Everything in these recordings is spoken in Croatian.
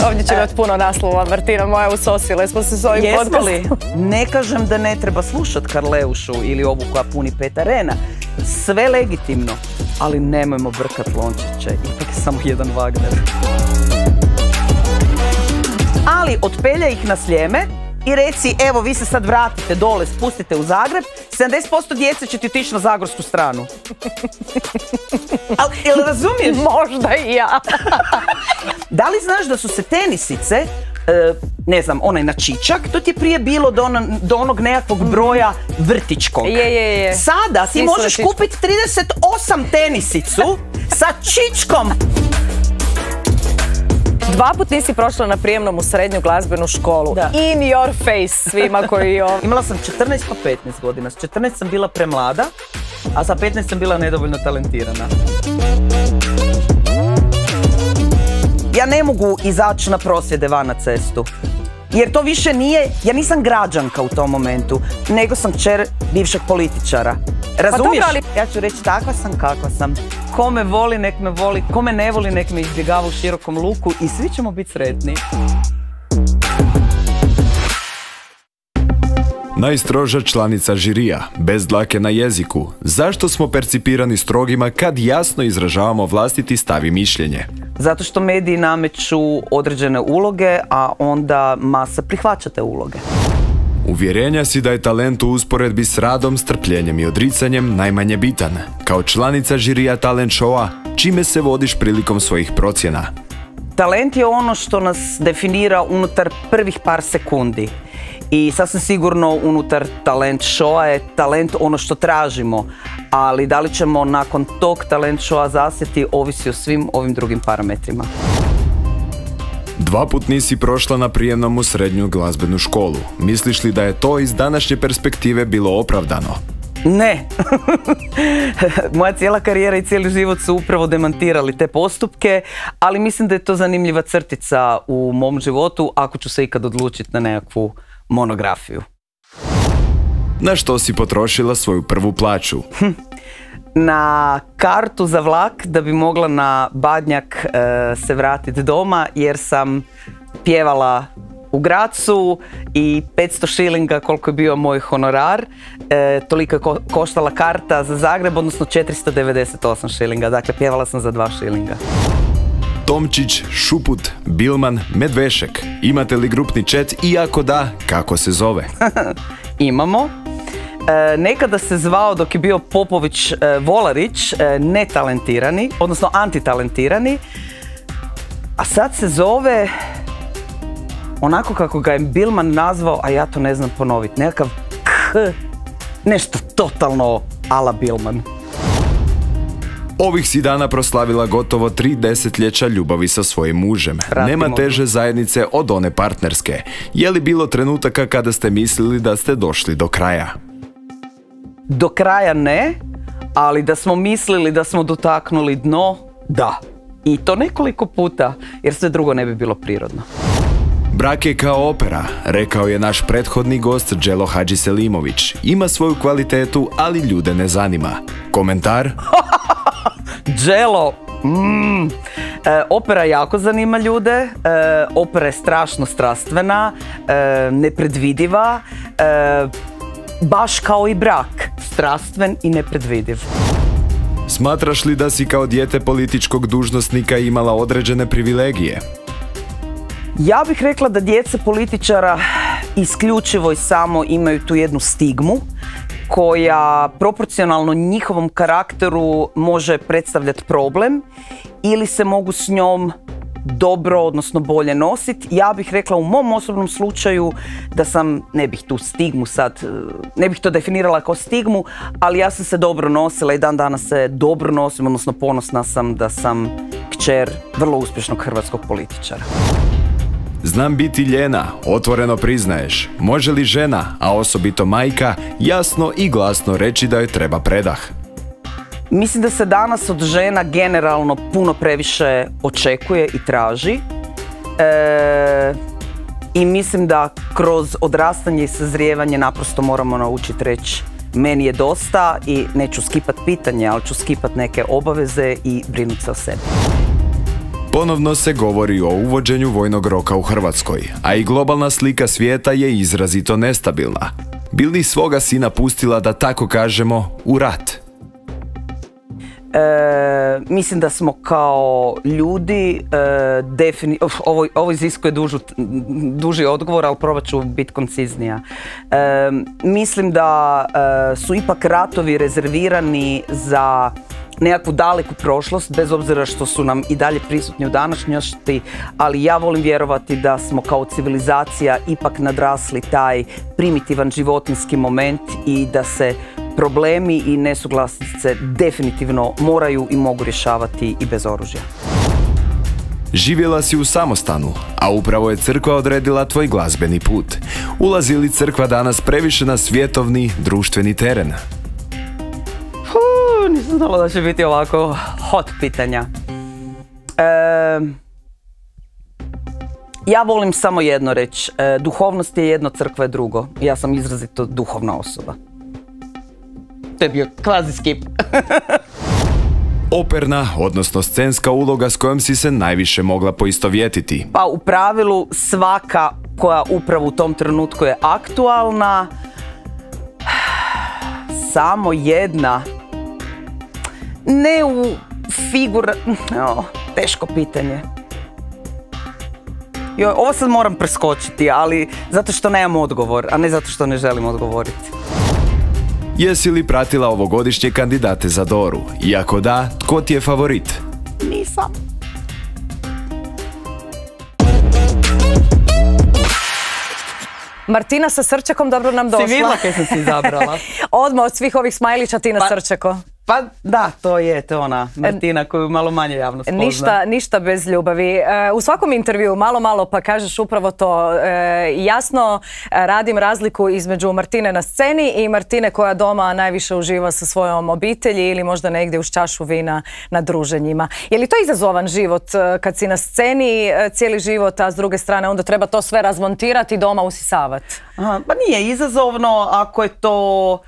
Ovdje će imati puno naslova, Martina moja, usosile smo se s ovim podcastom. Jesmo li? Ne kažem da ne treba slušati Karleušu ili ovu koja puni 5 arena. Sve legitimno, ali nemojmo brkat lončiće, ipak je samo jedan Wagner. Ali otpeljaj ih na Sljeme i reci, evo vi se sad vratite dole, spustite u Zagreb, 70% djece će ti otići na zagorsku stranu. Ali, jel razumiješ? Možda i ja. Da li znaš da su se tenisice, ne znam, onaj na čičak, to ti je prije bilo do onog nekakvog broja vrtičkog. Je. Sada ti možeš kupiti 38 tenisicu sa čičkom. 2 put nisi prošla na prijemnom u srednju glazbenu školu. Da. In your face svima koji ovo... Imala sam 14 pa 15 godina. S 14 sam bila premlada, a sa 15 sam bila nedovoljno talentirana. Ja ne mogu izaći na prosvjede van na cestu. Jer to više nije, ja nisam građanka u tom momentu, nego sam kćer bivšeg političara. Razumiješ? Pa dobro, ja ću reći takva sam kakva sam. Ko me voli, nek me voli, ko me ne voli, nek me izbjegava u širokom luku i svi ćemo biti sretni. Najstroža članica žirija, bez dlake na jeziku. Zašto smo percipirani strogima kad jasno izražavamo vlastiti stav i mišljenje? Zato što mediji nameću određene uloge, a onda masa prihvaća te uloge. Uvjerenja si da je talent u usporedbi s radom, strpljenjem i odricanjem najmanje bitan. Kao članica žirija talent showa, čime se vodiš prilikom svojih procjena? Talent je ono što nas definira unutar prvih par sekundi. I sasvim sigurno unutar talent showa je talent ono što tražimo, ali da li ćemo nakon tog talent showa zasjeti ovisi o svim ovim drugim parametrima. 2 put nisi prošla na prijemnom u srednju glazbenu školu. Misliš li da je to iz današnje perspektive bilo opravdano? Ne. Moja cijela karijera i cijeli život su upravo demantirali te postupke, ali mislim da je to zanimljiva crtica u mom životu ako ću se ikad odlučiti na nekakvu monografiju. Na što si potrošila svoju prvu plaću? Na kartu za vlak da bi mogla na Badnjak se vratiti doma jer sam pjevala u Grazu i 500 šilinga koliko je bio moj honorar, toliko je koštala karta za Zagreb, odnosno 498 šilinga, dakle pjevala sam za 2 šilinga. Tomčić, Šuput, Bilman, Medvešek. Imate li grupni chat i ako da, kako se zove? Imamo. Nekada se zvao, dok je bio Popović Volarić, netalentirani, odnosno antitalentirani, a sad se zove onako kako ga je Bilman nazvao, a ja to ne znam ponoviti, nekakav nešto totalno ala Bilman. Ovih si dana proslavila gotovo 3 desetljeća ljubavi sa svojim mužem. Nema teže zajednice od one partnerske. Je li bilo trenutaka kada ste mislili da ste došli do kraja? Do kraja ne, ali da smo mislili da smo dotaknuli dno, da. I to nekoliko puta, jer sve drugo ne bi bilo prirodno. Brak je kao opera, rekao je naš prethodni gost Đelo Hadžiselimović. Ima svoju kvalitetu, ali ljude ne zanima. Komentar? Đelo, opera jako zanima ljude, opera je strašno strastvena, nepredvidiva, baš kao i brak, strastven i nepredvidiv. Smatraš li da si kao dijete političkog dužnosnika imala određene privilegije? Ja bih rekla da djeca političara isključivo i samo imaju tu jednu stigmu koja proporcionalno njihovom karakteru može predstavljati problem ili se mogu s njom dobro, odnosno bolje nositi. Ja bih rekla u mom osobnom slučaju da sam, ne bih tu stigmu sad, ne bih to definirala kao stigmu, ali ja sam se dobro nosila i dan danas se dobro nosim, odnosno ponosna sam da sam kćer vrlo uspješnog hrvatskog političara. Znam biti ljena, otvoreno priznaješ. Može li žena, a osobito majka, jasno i glasno reći da joj treba predah? Mislim da se danas od žena generalno puno previše očekuje i traži. I mislim da kroz odrastanje i sazrijevanje naprosto moramo naučiti reći meni je dosta i neću skipat pitanje, ali ću skipat neke obaveze i brinuti se o sebi. Ponovno se govori o uvođenju vojnog roka u Hrvatskoj, a i globalna slika svijeta je izrazito nestabilna. Bi li svoga sina pustila, da tako kažemo, u rat? Mislim da smo kao ljudi, ovo iziskuje duži odgovor, ali probat ću biti konciznija. Mislim da su ipak ratovi rezervirani za nekakvu daleku prošlost, bez obzira što su nam i dalje prisutni u današnjosti, ali ja volim vjerovati da smo kao civilizacija ipak nadrasli taj primitivan životinjski moment i da se problemi i nesuglasice definitivno moraju i mogu rješavati i bez oružja. Živjela si u samostanu, a upravo je crkva odredila tvoj glazbeni put. Ulazi li crkva danas previše na svjetovni, društveni teren? Nisam znala da će biti ovako hot pitanja. Ja volim samo jedno reći. Duhovnost je jedno, crkva je drugo. Ja sam izrazito duhovna osoba. To je bio kvazi skip. Operna, odnosno scenska uloga s kojom si se najviše mogla poistovjetiti? Pa u pravilu svaka koja upravo u tom trenutku je aktualna. Samo jedna. Ne u teško pitanje. Ovo sad moram preskočiti, ali zato što nemam odgovor, a ne zato što ne želim odgovoriti. Jesi li pratila ovogodišnje kandidate za Doru? Iako da, tko ti je favorit? Nisam. Martina sa srčekom dobro nam došla. Si vidjela kaj sam si izabrala? Odmah od svih ovih smajlića Tina Srčeko. Pa da, to je ona Martina koju malo manje javnost pozna. Ništa bez ljubavi. U svakom intervju malo pa kažeš upravo to. Jasno radim razliku između Martine na sceni i Martine koja doma najviše uživa sa svojom obitelji ili možda negdje uz čašu vina na druženjima. Je li to izazovan život kad si na sceni cijeli život, a s druge strane onda treba to sve razmontirati i doma usisavati? Pa nije izazovno ako je to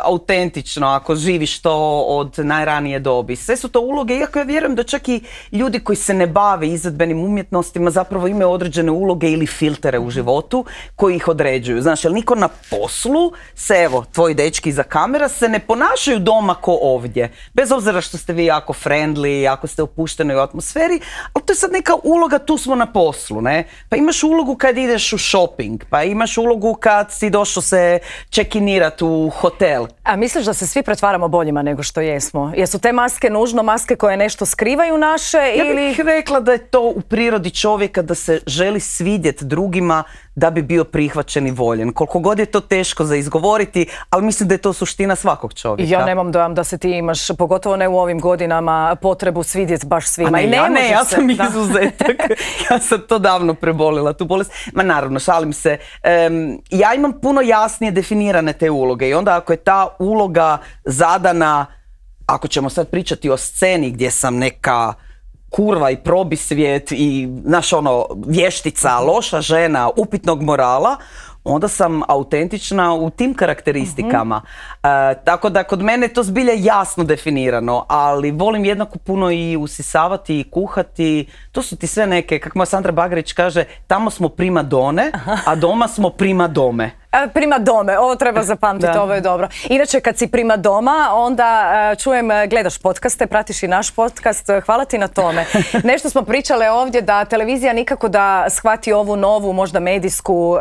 autentično, ako živiš to od najranije dobi. Sve su to uloge, iako ja vjerujem da čak i ljudi koji se ne bave izvedbenim umjetnostima zapravo imaju određene uloge ili filtere u životu koji ih određuju. Znaš, jer niko na poslu se, evo, tvoji dečki iza kamera se ne ponašaju doma ko ovdje. Bez obzira što ste vi jako friendly, ako ste opušteni u atmosferi, ali to je sad neka uloga, tu smo na poslu, ne? Pa imaš ulogu kad ideš u shopping, pa imaš ulogu kad si došao se check-inirati u hotel. A misliš da se svi pretvaramo boljima nego što jesmo? Jesu te maske nužno maske koje nešto skrivaju naše ili... Ja bih rekla da je to u prirodi čovjeka da se želi svidjeti drugima da bi bio prihvaćen i voljen. Koliko god je to teško za izgovoriti, ali mislim da je to suština svakog čovjeka. Ja nemam dojam da se ti imaš, pogotovo ne u ovim godinama, potrebu svidjeti baš svima. Ja sam izuzetak. Ja sam to davno prebolila, tu bolest. Ma naravno, šalim se. Ja imam puno jasnije definirane te uloge i onda ako je ta uloga zadana, ako ćemo sad pričati o sceni gdje sam neka kurva i probisvijet i, znaš, vještica, loša žena, upitnog morala, onda sam autentična u tim karakteristikama. Tako da kod mene je to zbilja jasno definirano, ali volim jednako puno i usisavati i kuhati. To su ti sve neke, kako moja Sandra Bagarić kaže, tamo smo prima done, a doma smo prima dome. Prima dome, ovo treba zapamtiti, ovo je dobro. Inače, kad si prima doma, onda čujem, gledaš podcaste, pratiš i naš podcast, hvala ti na tome. Nešto smo pričale ovdje da televizija nikako da shvati ovu novu, možda medijsku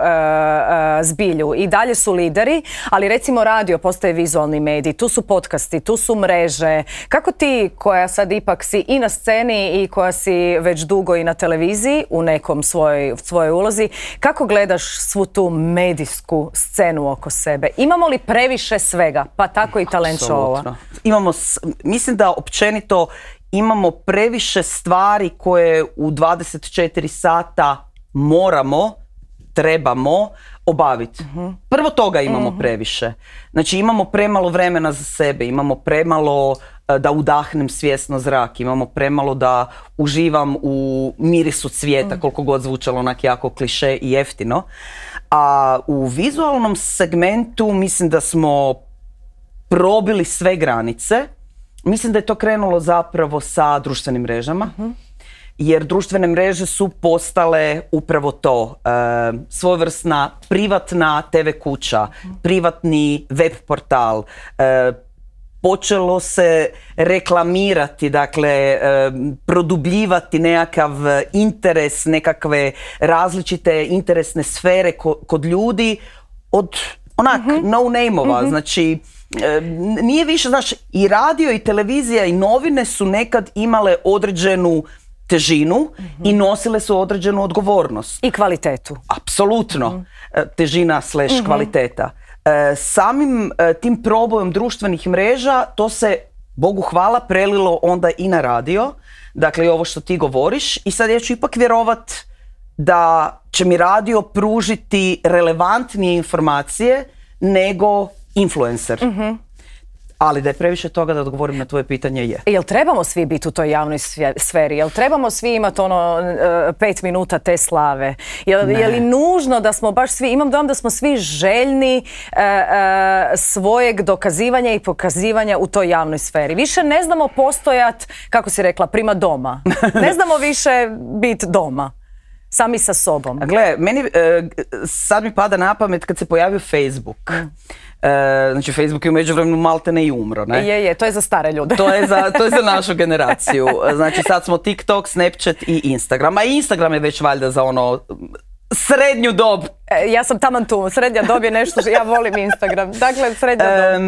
zbilju. I dalje su lideri, ali recimo radio postaje vizualni medij, tu su podcasti, tu su mreže. Kako ti, koja sad ipak si i na sceni i koja si već dugo i na televiziji, u nekom svojoj ulozi, kako gledaš svu tu medijsku scenu oko sebe? Imamo li previše svega, pa tako i talent show-a? Mislim da općenito imamo previše stvari koje u 24 sata trebamo obaviti. Prvo toga imamo previše. Znači imamo premalo vremena za sebe, imamo premalo da udahnem svjesno zrak, imamo premalo da uživam u mirisu cvijeta, koliko god zvučalo onak jako kliše i jeftino. A u vizualnom segmentu mislim da smo probili sve granice. Mislim da je to krenulo zapravo sa društvenim mrežama. jer društvene mreže su postale upravo to, svojevrsna privatna TV kuća, privatni web portal, počelo se reklamirati, dakle, produbljivati nekakav interes, nekakve različite interesne sfere kod ljudi od onak no-name-ova. Znači, nije više, znaš, i radio i televizija i novine su nekad imale određenu težinu i nosile su određenu odgovornost. I kvalitetu. Apsolutno. Težina / kvaliteta. Samim tim probojem društvenih mreža to se, Bogu hvala, prelilo onda i na radio. Dakle, i ovo što ti govoriš. I sad ja ću ipak vjerovat da će mi radio pružiti relevantnije informacije nego influencer. Ali da je previše toga da odgovorim na tvoje pitanje je. Jel trebamo svi biti u toj javnoj sferi? Jel trebamo svi imati 5 minuta te slave? Je li nužno da smo baš svi, imam dojam da smo svi željni svojeg dokazivanja i pokazivanja u toj javnoj sferi. Više ne znamo postojat, kako si rekla, prima doma. Ne znamo više biti doma. Sami sa sobom. Gle, meni sad mi pada na pamet kad se pojavio Facebook. Znači, Facebook je u međuvremenu maltene i umro, ne? Je, to je za stare ljude. To je za našu generaciju. Znači, sad smo TikTok, Snapchat i Instagram. A Instagram je već valjda za ono srednju dob. Ja sam taman tu. Srednja dob je nešto, ja volim Instagram. Dakle, srednja dob.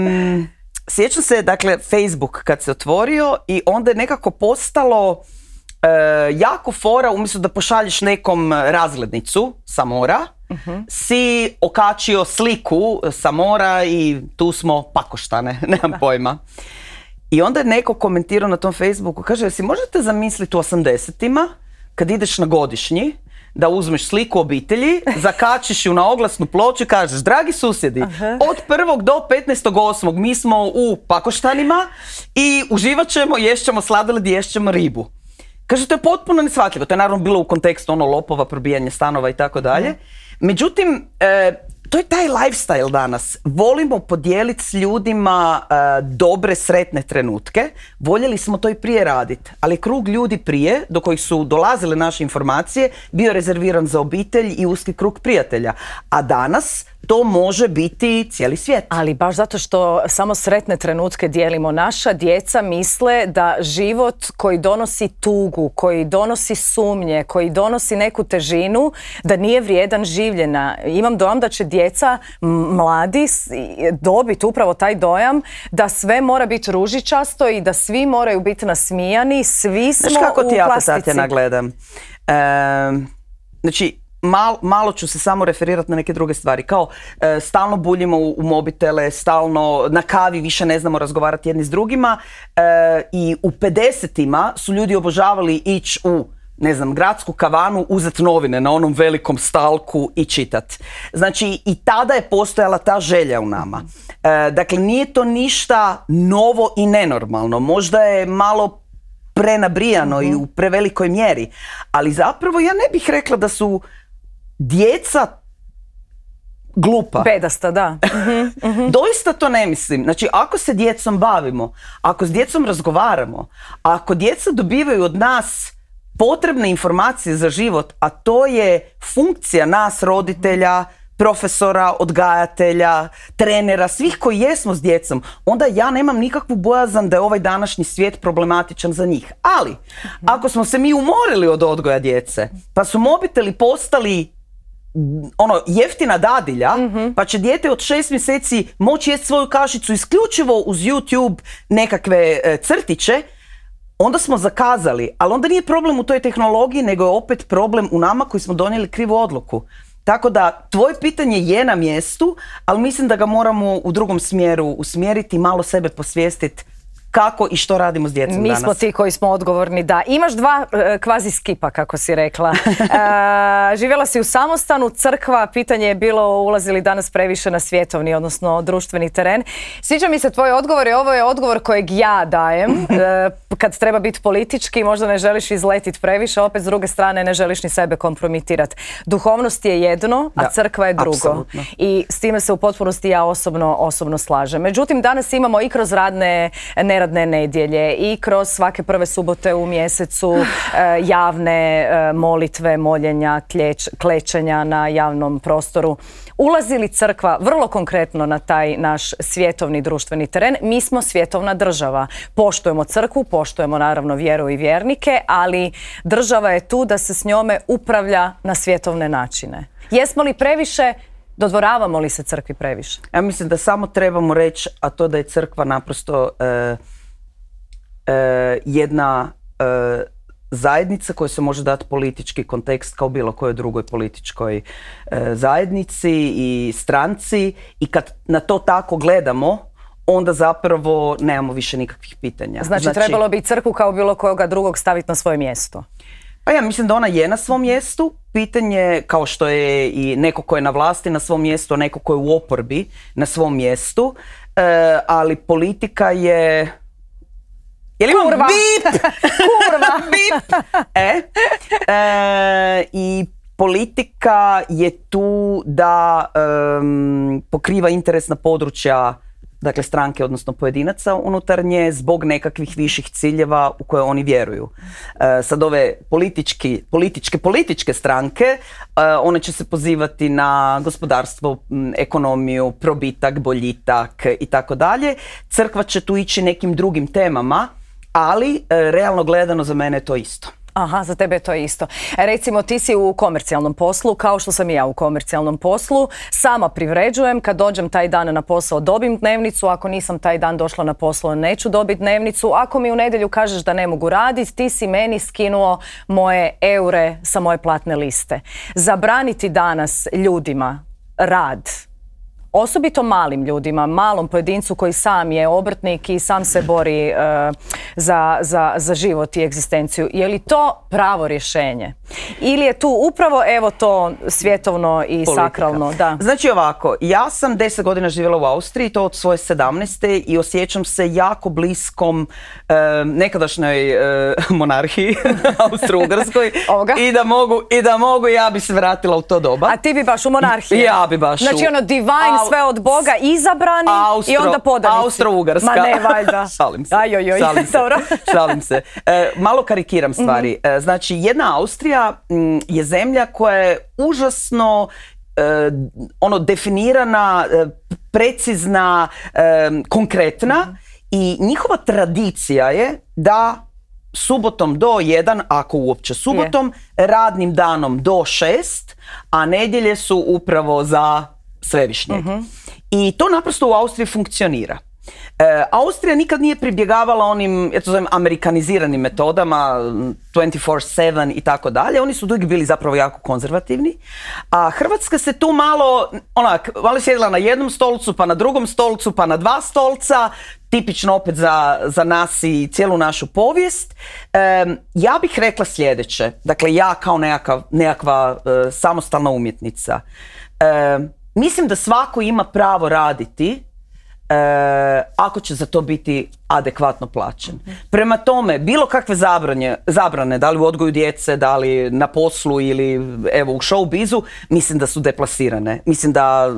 Sjećam se, dakle, Facebook kad se otvorio i onda je nekako postalo jako fora, umjesto da pošalješ nekom razglednicu sa mora, si okačio sliku sa mora i tu smo pakoštane, nemam pojma. I onda je neko komentirao na tom Facebooku, kaže, jesi možete zamisliti u 80-ima, kad ideš na godišnji, da uzmeš sliku obitelji, zakačiš ju na oglasnu ploču i kažeš, dragi susjedi, od 1. do 15.8. mi smo u pakoštanima i uživat ćemo, ješćemo sladoled, ješćemo ribu. Kaže, to je potpuno neshvatljivo. To je naravno bilo u kontekstu lopova, probijanje stanova i tako dalje. Međutim, to je taj lifestyle danas. Volimo podijeliti s ljudima dobre, sretne trenutke. Voljeli smo to i prije raditi. Ali krug ljudi prije, do kojih su dolazile naše informacije, bio rezerviran za obitelj i uski krug prijatelja. A danas to može biti cijeli svijet. Ali baš zato što samo sretne trenutke dijelimo, naša djeca misle da život koji donosi tugu, koji donosi sumnje, koji donosi neku težinu, da nije vrijedan življenja. Imam dojam da će djeca, mladi, dobiti upravo taj dojam da sve mora biti ružičasto i da svi moraju biti nasmijani, svi smo u plastici. Znaš kako ti ja Tatjana gledam? Znači, malo ću se samo referirati na neke druge stvari. Kao, stalno buljimo u mobitele, stalno na kavi više ne znamo razgovarati jedni s drugima. I u 50-ima su ljudi obožavali ići u, ne znam, gradsku kavanu, uzeti novine na onom velikom stalku i čitat. Znači, i tada je postojala ta želja u nama. Dakle, nije to ništa novo i nenormalno. Možda je malo prenabrijano i u prevelikoj mjeri. Ali zapravo ja ne bih rekla da su djeca glupa. Bedasta, da. Doista to ne mislim. Znači, ako se djecom bavimo, ako s djecom razgovaramo, ako djeca dobivaju od nas potrebne informacije za život, a to je funkcija nas, roditelja, profesora, odgajatelja, trenera, svih koji jesmo s djecom, onda ja nemam nikakvu bojazan da je ovaj današnji svijet problematičan za njih. Ali, ako smo se mi umorili od odgoja djece, pa su mobiteli postali jeftina dadilja, pa će dijete od 6 mjeseci moći jesti svoju kašicu isključivo uz YouTube nekakve crtiće, onda smo zakazali. Ali onda nije problem u toj tehnologiji, nego je opet problem u nama koji smo donijeli krivu odluku. Tako da, tvoje pitanje je na mjestu, ali mislim da ga moramo u drugom smjeru usmjeriti, malo sebe posvijestiti kako i što radimo s djecom danas. Mi smo ti koji smo odgovorni, da. Imaš dva kvazi skipa, kako si rekla. Živjela si u samostanu, crkva, pitanje je bilo ulazi li danas previše na svjetovni, odnosno društveni teren. Sviđa mi se tvoj odgovor i ovo je odgovor kojeg ja dajem. Kad treba biti politički, možda ne želiš izletiti previše, opet s druge strane ne želiš ni sebe kompromitirati. Duhovnost je jedno, a crkva je drugo. Apsolutno. I s time se u potpunosti ja osobno slažem. Međutim, danas imamo i kroz radne nerade neradne nedjelje i kroz svake prve subote u mjesecu javne molitve, moljenja, klečenja na javnom prostoru. Ulazi li crkva vrlo konkretno na taj naš svjetovni društveni teren? Mi smo svjetovna država. Poštujemo crkvu, poštujemo naravno vjeru i vjernike, ali država je tu da se s njome upravlja na svjetovne načine. Jesmo li previše, dodvoravamo li se crkvi previše? Ja mislim da samo trebamo reći, a to da je crkva naprosto jedna zajednica koja se može dati politički kontekst kao bilo kojoj drugoj političkoj zajednici i stranci, i kad na to tako gledamo, onda zapravo nemamo više nikakvih pitanja. Znači trebalo bi crkvu kao bilo koga drugog staviti na svoje mjesto? Pa ja mislim da ona je na svom mjestu. Pitanje, kao što je i neko ko je na vlasti na svom mjestu, a neko ko je u oporbi na svom mjestu, ali politika je... Kurva! Bip! Kurva! Bip! I politika je tu da pokriva interesna područja, dakle stranke, odnosno pojedinaca unutar nje, zbog nekakvih viših ciljeva u koje oni vjeruju. Sad ove političke stranke, one će se pozivati na gospodarstvo, ekonomiju, probitak, boljitak i tako dalje. Crkva će tu ići nekim drugim temama, ali realno gledano za mene je to isto. Aha, za tebe je to isto. Recimo, ti si u komercijalnom poslu, kao što sam i ja u komercijalnom poslu. Sama privređujem, kad dođem taj dan na posao dobim dnevnicu, ako nisam taj dan došla na posao neću dobiti dnevnicu. Ako mi u nedjelju kažeš da ne mogu raditi, ti si meni skinuo moje eure sa moje platne liste. Zabraniti danas ljudima rad, osobito malim ljudima, malom pojedincu koji sam je obrtnik i sam se bori za život i egzistenciju. Je li to pravo rješenje? Ili je tu upravo evo to svjetovno i politika, sakralno? Da. Znači ovako, ja sam 10 godina živjela u Austriji, to od svoje 17. i osjećam se jako bliskom nekadašnjoj monarhiji Austro-Ugarskoj i da mogu, ja bi se vratila u to doba. A ti bi baš u monarhiji? Ja bi baš znači ono divine, sve od Boga, izabrani i onda podanici. Austro-Ugarska. Ma ne, valjda. Šalim se. Šalim se. Malo karikiram stvari. Znači, jedna Austrija je zemlja koja je užasno definirana, precizna, konkretna, i njihova tradicija je da subotom do 1, ako uopće subotom, radnim danom do 6, a nedjelje su upravo za Svevišnjeg. I to naprosto u Austriji funkcionira. Austrija nikad nije pribjegavala onim, ja to zovem, amerikaniziranim metodama, 24/7 i tako dalje. Oni su uvijek bili zapravo jako konzervativni. A Hrvatska se tu malo sjedila na jednom stolcu, pa na drugom stolcu, pa na 2 stolca, tipično opet za nas i cijelu našu povijest. Ja bih rekla sljedeće, dakle ja kao nekakva samostalna umjetnica, mislim da svako ima pravo raditi ako će za to biti adekvatno plaćen. Prema tome, bilo kakve zabrane, da li u odgoju djece, da li na poslu ili evo u showbizu, mislim da su deplasirane. Mislim da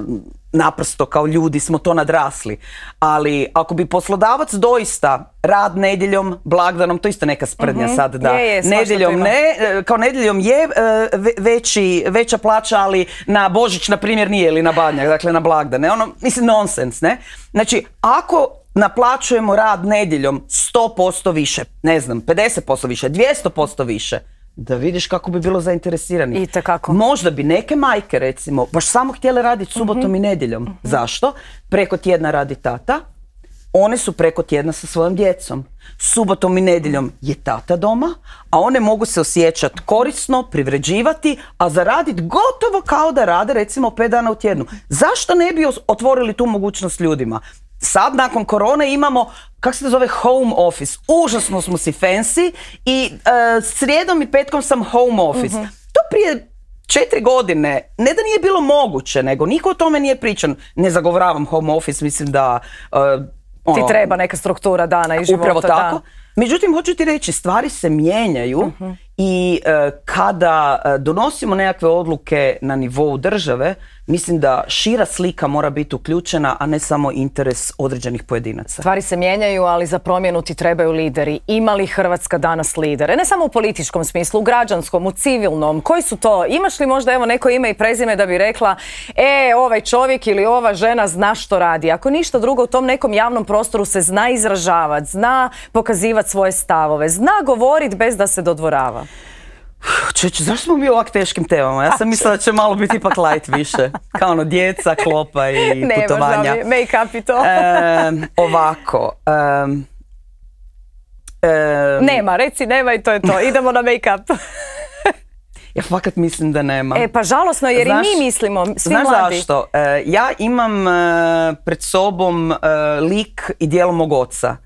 naprosto kao ljudi smo to nadrasli. Ali ako bi poslodavac doista rad nedjeljom, blagdanom, to isto neka sprdnja sad, da nedjeljom ne, kao nedjeljom je veća plaća, ali na Božić, na primjer, nije, ili na Badnjak, dakle na blagdane. Mislim, nonsens, ne? Znači, ako naplaćujemo rad nedjeljom 100% više, ne znam, 50% više, 200% više, da vidiš kako bi bilo zainteresirani. Možda bi neke majke, recimo, baš samo htjele raditi subotom i nedjeljom. Zašto? Preko tjedna radi tata, one su preko tjedna sa svojom djecom. Subotom i nedjeljom je tata doma, a one mogu se osjećati korisno, privređivati, a zaraditi gotovo kao da rade recimo 5 dana u tjednu. Zašto ne bi otvorili tu mogućnost ljudima? Sad, nakon korone, imamo, kako se to zove, home office. Užasno smo si fancy i srijedom i petkom sam home office. To prije 4 godine, ne da nije bilo moguće, nego niko o tome nije pričan. Ne zagovoravam home office, mislim da... ti treba neka struktura dana i života. Upravo tako. Da. Međutim, hoću ti reći, stvari se mijenjaju I kada donosimo nekakve odluke na nivou države, mislim da šira slika mora biti uključena, a ne samo interes određenih pojedinaca. Stvari se mijenjaju, ali za promjenu ti trebaju lideri. Ima li Hrvatska danas lidere? Ne samo u političkom smislu, u građanskom, u civilnom. Koji su to? Imaš li možda evo neko ime i prezime da bi rekla ovaj čovjek ili ova žena zna što radi? Ako ništa drugo, u tom nekom javnom prostoru se zna izražavati, zna pokazivati svoje stavove, zna govoriti bez da se dodvorava. Zašto smo mi u ovak teškim temama? Ja sam mislila da će malo biti ipak light više. Kao ono djeca, klopa i putovanja. Ne, make-up i to. Ovako. Nema, reci nema i to je to. Idemo na make-up. Ja fakat mislim da nema. Pa žalosno jer i mi mislimo, svi mladi. Znaš zašto? Ja imam pred sobom lik i djelo mog oca,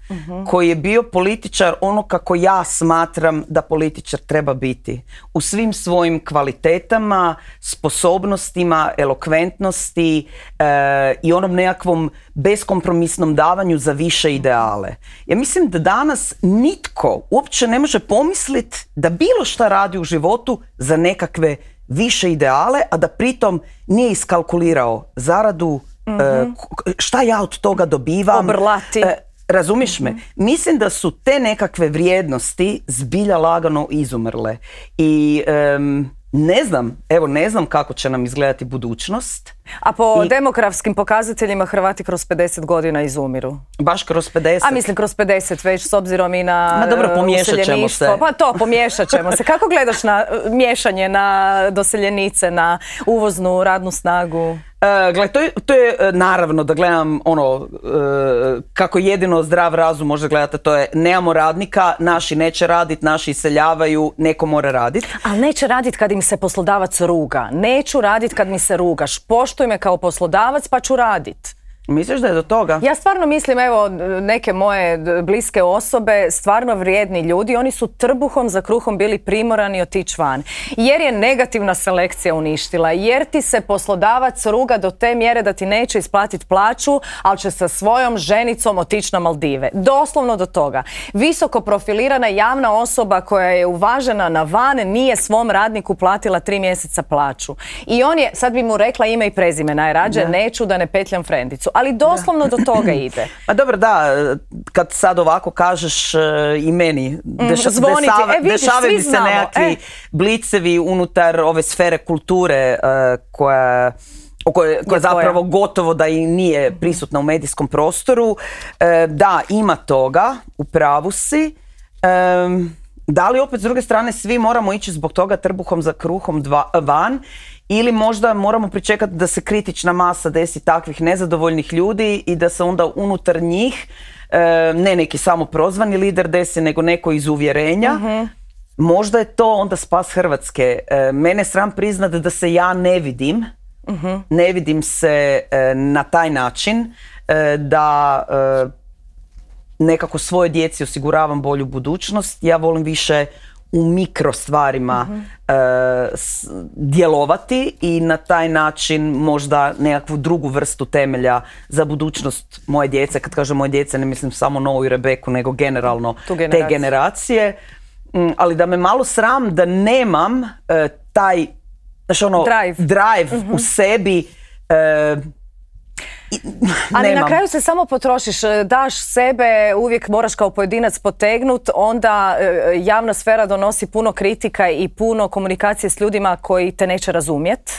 koji je bio političar ono kako ja smatram da političar treba biti. U svim svojim kvalitetama, sposobnostima, elokventnosti i onom nekakvom beskompromisnom davanju za više ideale. Ja mislim da danas nitko uopće ne može pomisliti da bilo šta radi u životu za nekakve više ideale, a da pritom nije iskalkulirao zaradu, šta ja od toga dobivam. Obrlati. Razumiješ me? Mislim da su te nekakve vrijednosti zbilja lagano izumrle. I ne znam kako će nam izgledati budućnost. A po demografskim pokazateljima Hrvati kroz 50 godina izumiru. Baš kroz 50? A mislim kroz 50 već s obzirom i na pomiješat ćemo se. Pa to, pomiješat ćemo se. Kako gledaš na miješanje na doseljenice, na uvoznu radnu snagu? Gle, to je naravno da gledam kako jedino zdrav razum može gledati, to je nemamo radnika, naši neće raditi, naši iseljavaju, neko mora raditi. Ali neće raditi kad im se poslodavac ruga. Neću raditi kad mi se rugaš. Poštuj me kao poslodavac pa ću raditi. Misliš da je do toga? Ja stvarno mislim, evo, neke moje bliske osobe, stvarno vrijedni ljudi, oni su trbuhom za kruhom bili primorani otići van. Jer je negativna selekcija uništila, jer ti se poslodavac ruga do te mjere da ti neće isplatiti plaću, ali će sa svojom ženicom otići na Maldive. Doslovno do toga. Visoko profilirana javna osoba koja je uvažena na van nije svom radniku platila 3 mjeseca plaću. I on je, sad bi mu rekla ime i prezime najrađe, neću da ne petljam frendicu. Ali doslovno do toga ide. Pa dobro, da, kad sad ovako kažeš i meni, dešavaju se nekakvi blicevi unutar ove sfere kulture koja zapravo gotovo da i nije prisutna u medijskom prostoru. Da, ima toga, u pravu si. Da li opet s druge strane svi moramo ići zbog toga trbuhom za kruhom van? Ili možda moramo pričekati da se kritična masa desi takvih nezadovoljnih ljudi i da se onda unutar njih ne neki samo prozvani lider desi, nego neko iz uvjerenja. Možda je to onda spas Hrvatske. Mene sram priznati da se ja ne vidim. Ne vidim se na taj način da nekako svojoj djeci osiguravam bolju budućnost. Ja volim više u mikro stvarima djelovati i na taj način možda nekakvu drugu vrstu temelja za budućnost moje djece. Kad kažem moje djece, ne mislim samo Novu i Rebeku, nego generalno te generacije. Ali da me malo sram da nemam taj drive u sebi. Ali na kraju se samo potrošiš, daš sebe, uvijek moraš kao pojedinac potegnut, onda javna sfera donosi puno kritika i puno komunikacije s ljudima koji te neće razumjeti,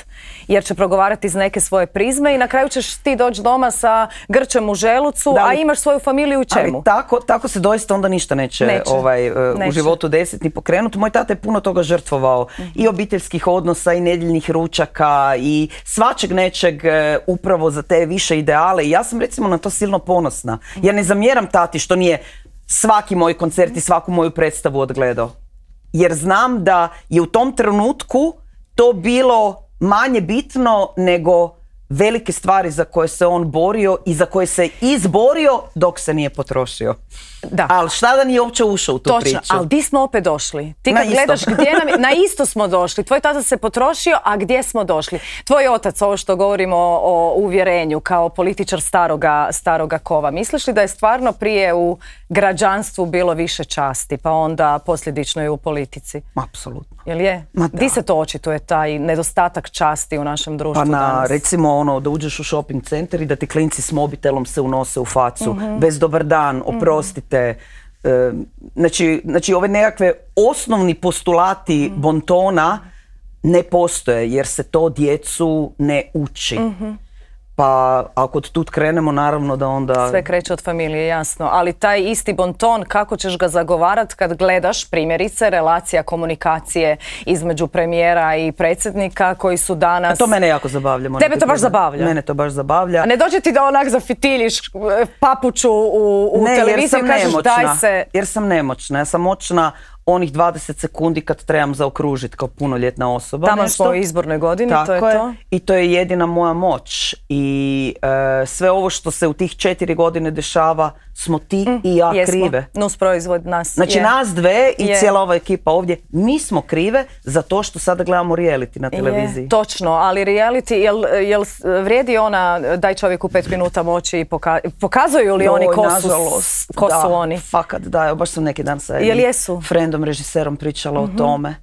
jer će progovarati iz neke svoje prizme i na kraju ćeš ti doći doma sa grčem u želucu, a imaš svoju familiju u čemu? Ali tako se doista onda ništa neće. U životu desiti ni pokrenuti. Moj tata je puno toga žrtvovao, i obiteljskih odnosa, i nedjeljnih ručaka, i svačeg nečeg upravo za te više ideale, i ja sam recimo na to silno ponosna. Ja ne zamjeram tati što nije svaki moj koncert i svaku moju predstavu odgledao. Jer znam da je u tom trenutku to bilo manje bitno nego velike stvari za koje se on borio i za koje se izborio dok se nije potrošio. Da. Ali šta da nije uopće ušao u tu priču? Točno, ali di smo opet došli? Ti kad gledaš gdje nam na isto smo došli. Tvoj tata se potrošio, a gdje smo došli? Tvoj otac, ovo što govorimo o uvjerenju kao političar staroga kova, misliš li da je stvarno prije u građanstvu bilo više časti, pa onda posljedično i u politici? Apsolutno. Jel je? Di se to očituje, taj nedostatak časti u našem društvu danas? Recimo da uđeš u shopping centar i da ti klinci s mobitelom se unose u facu, bez dobar dan, oprostite. Znači ove nekakve osnovni postulati bontona ne postoje jer se to djecu ne uči. Pa ako od tud krenemo, naravno da onda... Sve kreće od familije, jasno. Ali taj isti bonton, kako ćeš ga zagovarat kad gledaš, primjerice, relacija komunikacije između premijera i predsjednika koji su danas... A to mene jako zabavlja. Tebe to baš zabavlja? Mene to baš zabavlja. A ne dođe ti da onak zafitiljiš papuču u televiziji i kažeš daj se... Jer sam nemoćna. Ja sam moćna onih 20 sekundi kad trebam zaokružiti kao punoljetna osoba. Tamo smo u izbornoj godini, tako to je to. I to je jedina moja moć. I sve ovo što se u tih 4 godine dešava smo ti i ja krive. Nus proizvod nas. Znači nas dve i cijela ova ekipa ovdje, mi smo krive za to što sada gledamo reality na televiziji. Točno, ali reality, jel vrijedi ona daj čovjeku 5 minuta moći i pokazuju li oni ko su oni? Fakat, da, baš sam neki dan sa friendom, režiserom pričala o tome.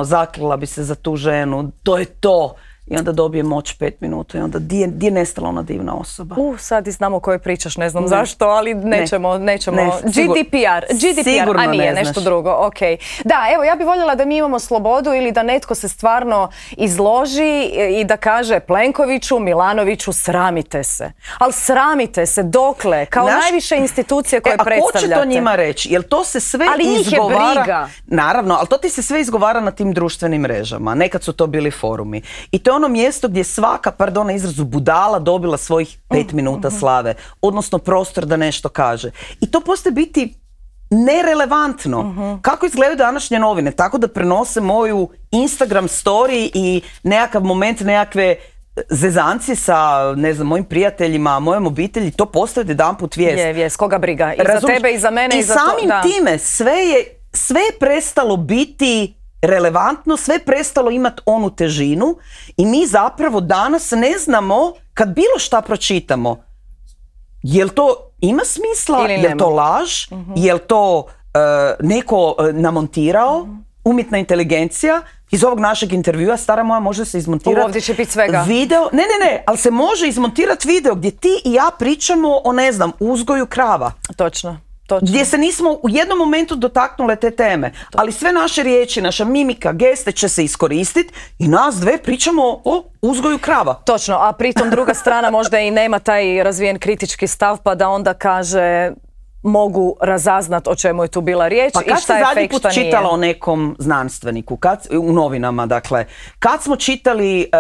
Zaklila bi se za tu ženu, to je to. I onda dobije moć 5 minuta i onda di je nestala ona divna osoba? Sad i znamo o kojoj pričaš, ne znam zašto, ali nećemo. GDPR, a nije nešto drugo, ok. Da, evo, ja bih voljela da mi imamo slobodu ili da netko se stvarno izloži i da kaže Plenkoviću, Milanoviću, sramite se. Ali sramite se, dokle? Kao najviše institucije koje predstavljate. A ko će to njima reći? Jel to se sve izgovara? Ali njih je briga. Naravno, ali to ti se sve izgovara na tim društvenim mrežama. Nekad su to bili forumi. I to je ono mjesto gdje svaka, pardon na izrazu, budala dobila svojih 5 minuta slave, odnosno prostor da nešto kaže. I to postaje biti nerelevantno. Kako izgledaju današnje novine? Tako da prenose moju Instagram story i nekakav moment, nekakve zezancije sa, ne znam, mojim prijateljima, mojom obitelji, to postaje jedanput vijest. Vijest, koga briga? I za tebe, i za mene, i za to. I samim time sve je prestalo biti relevantno, sve je prestalo imati onu težinu i mi zapravo danas ne znamo kad bilo šta pročitamo. Jel to ima smisla? Jel to laž? Jel to neko namontirao? Umjetna inteligencija? Iz ovog našeg intervjua, stara moja, može se izmontirati ovdje će biti svega. Video. Ne, ali se može izmontirati video gdje ti i ja pričamo o, ne znam, uzgoju krava. Točno. Gdje se nismo u jednom momentu dotaknule te teme. Ali sve naše riječi, naša mimika, geste će se iskoristiti i nas dve pričamo o uzgoju krava. Točno, a pritom druga strana možda i nema taj razvijen kritički stav pa da onda kaže mogu razaznat o čemu je tu bila riječ i šta je fake, šta nije. Pa kad si zadnji put čitala o nekom znanstveniku, u novinama, dakle, kad smo čitali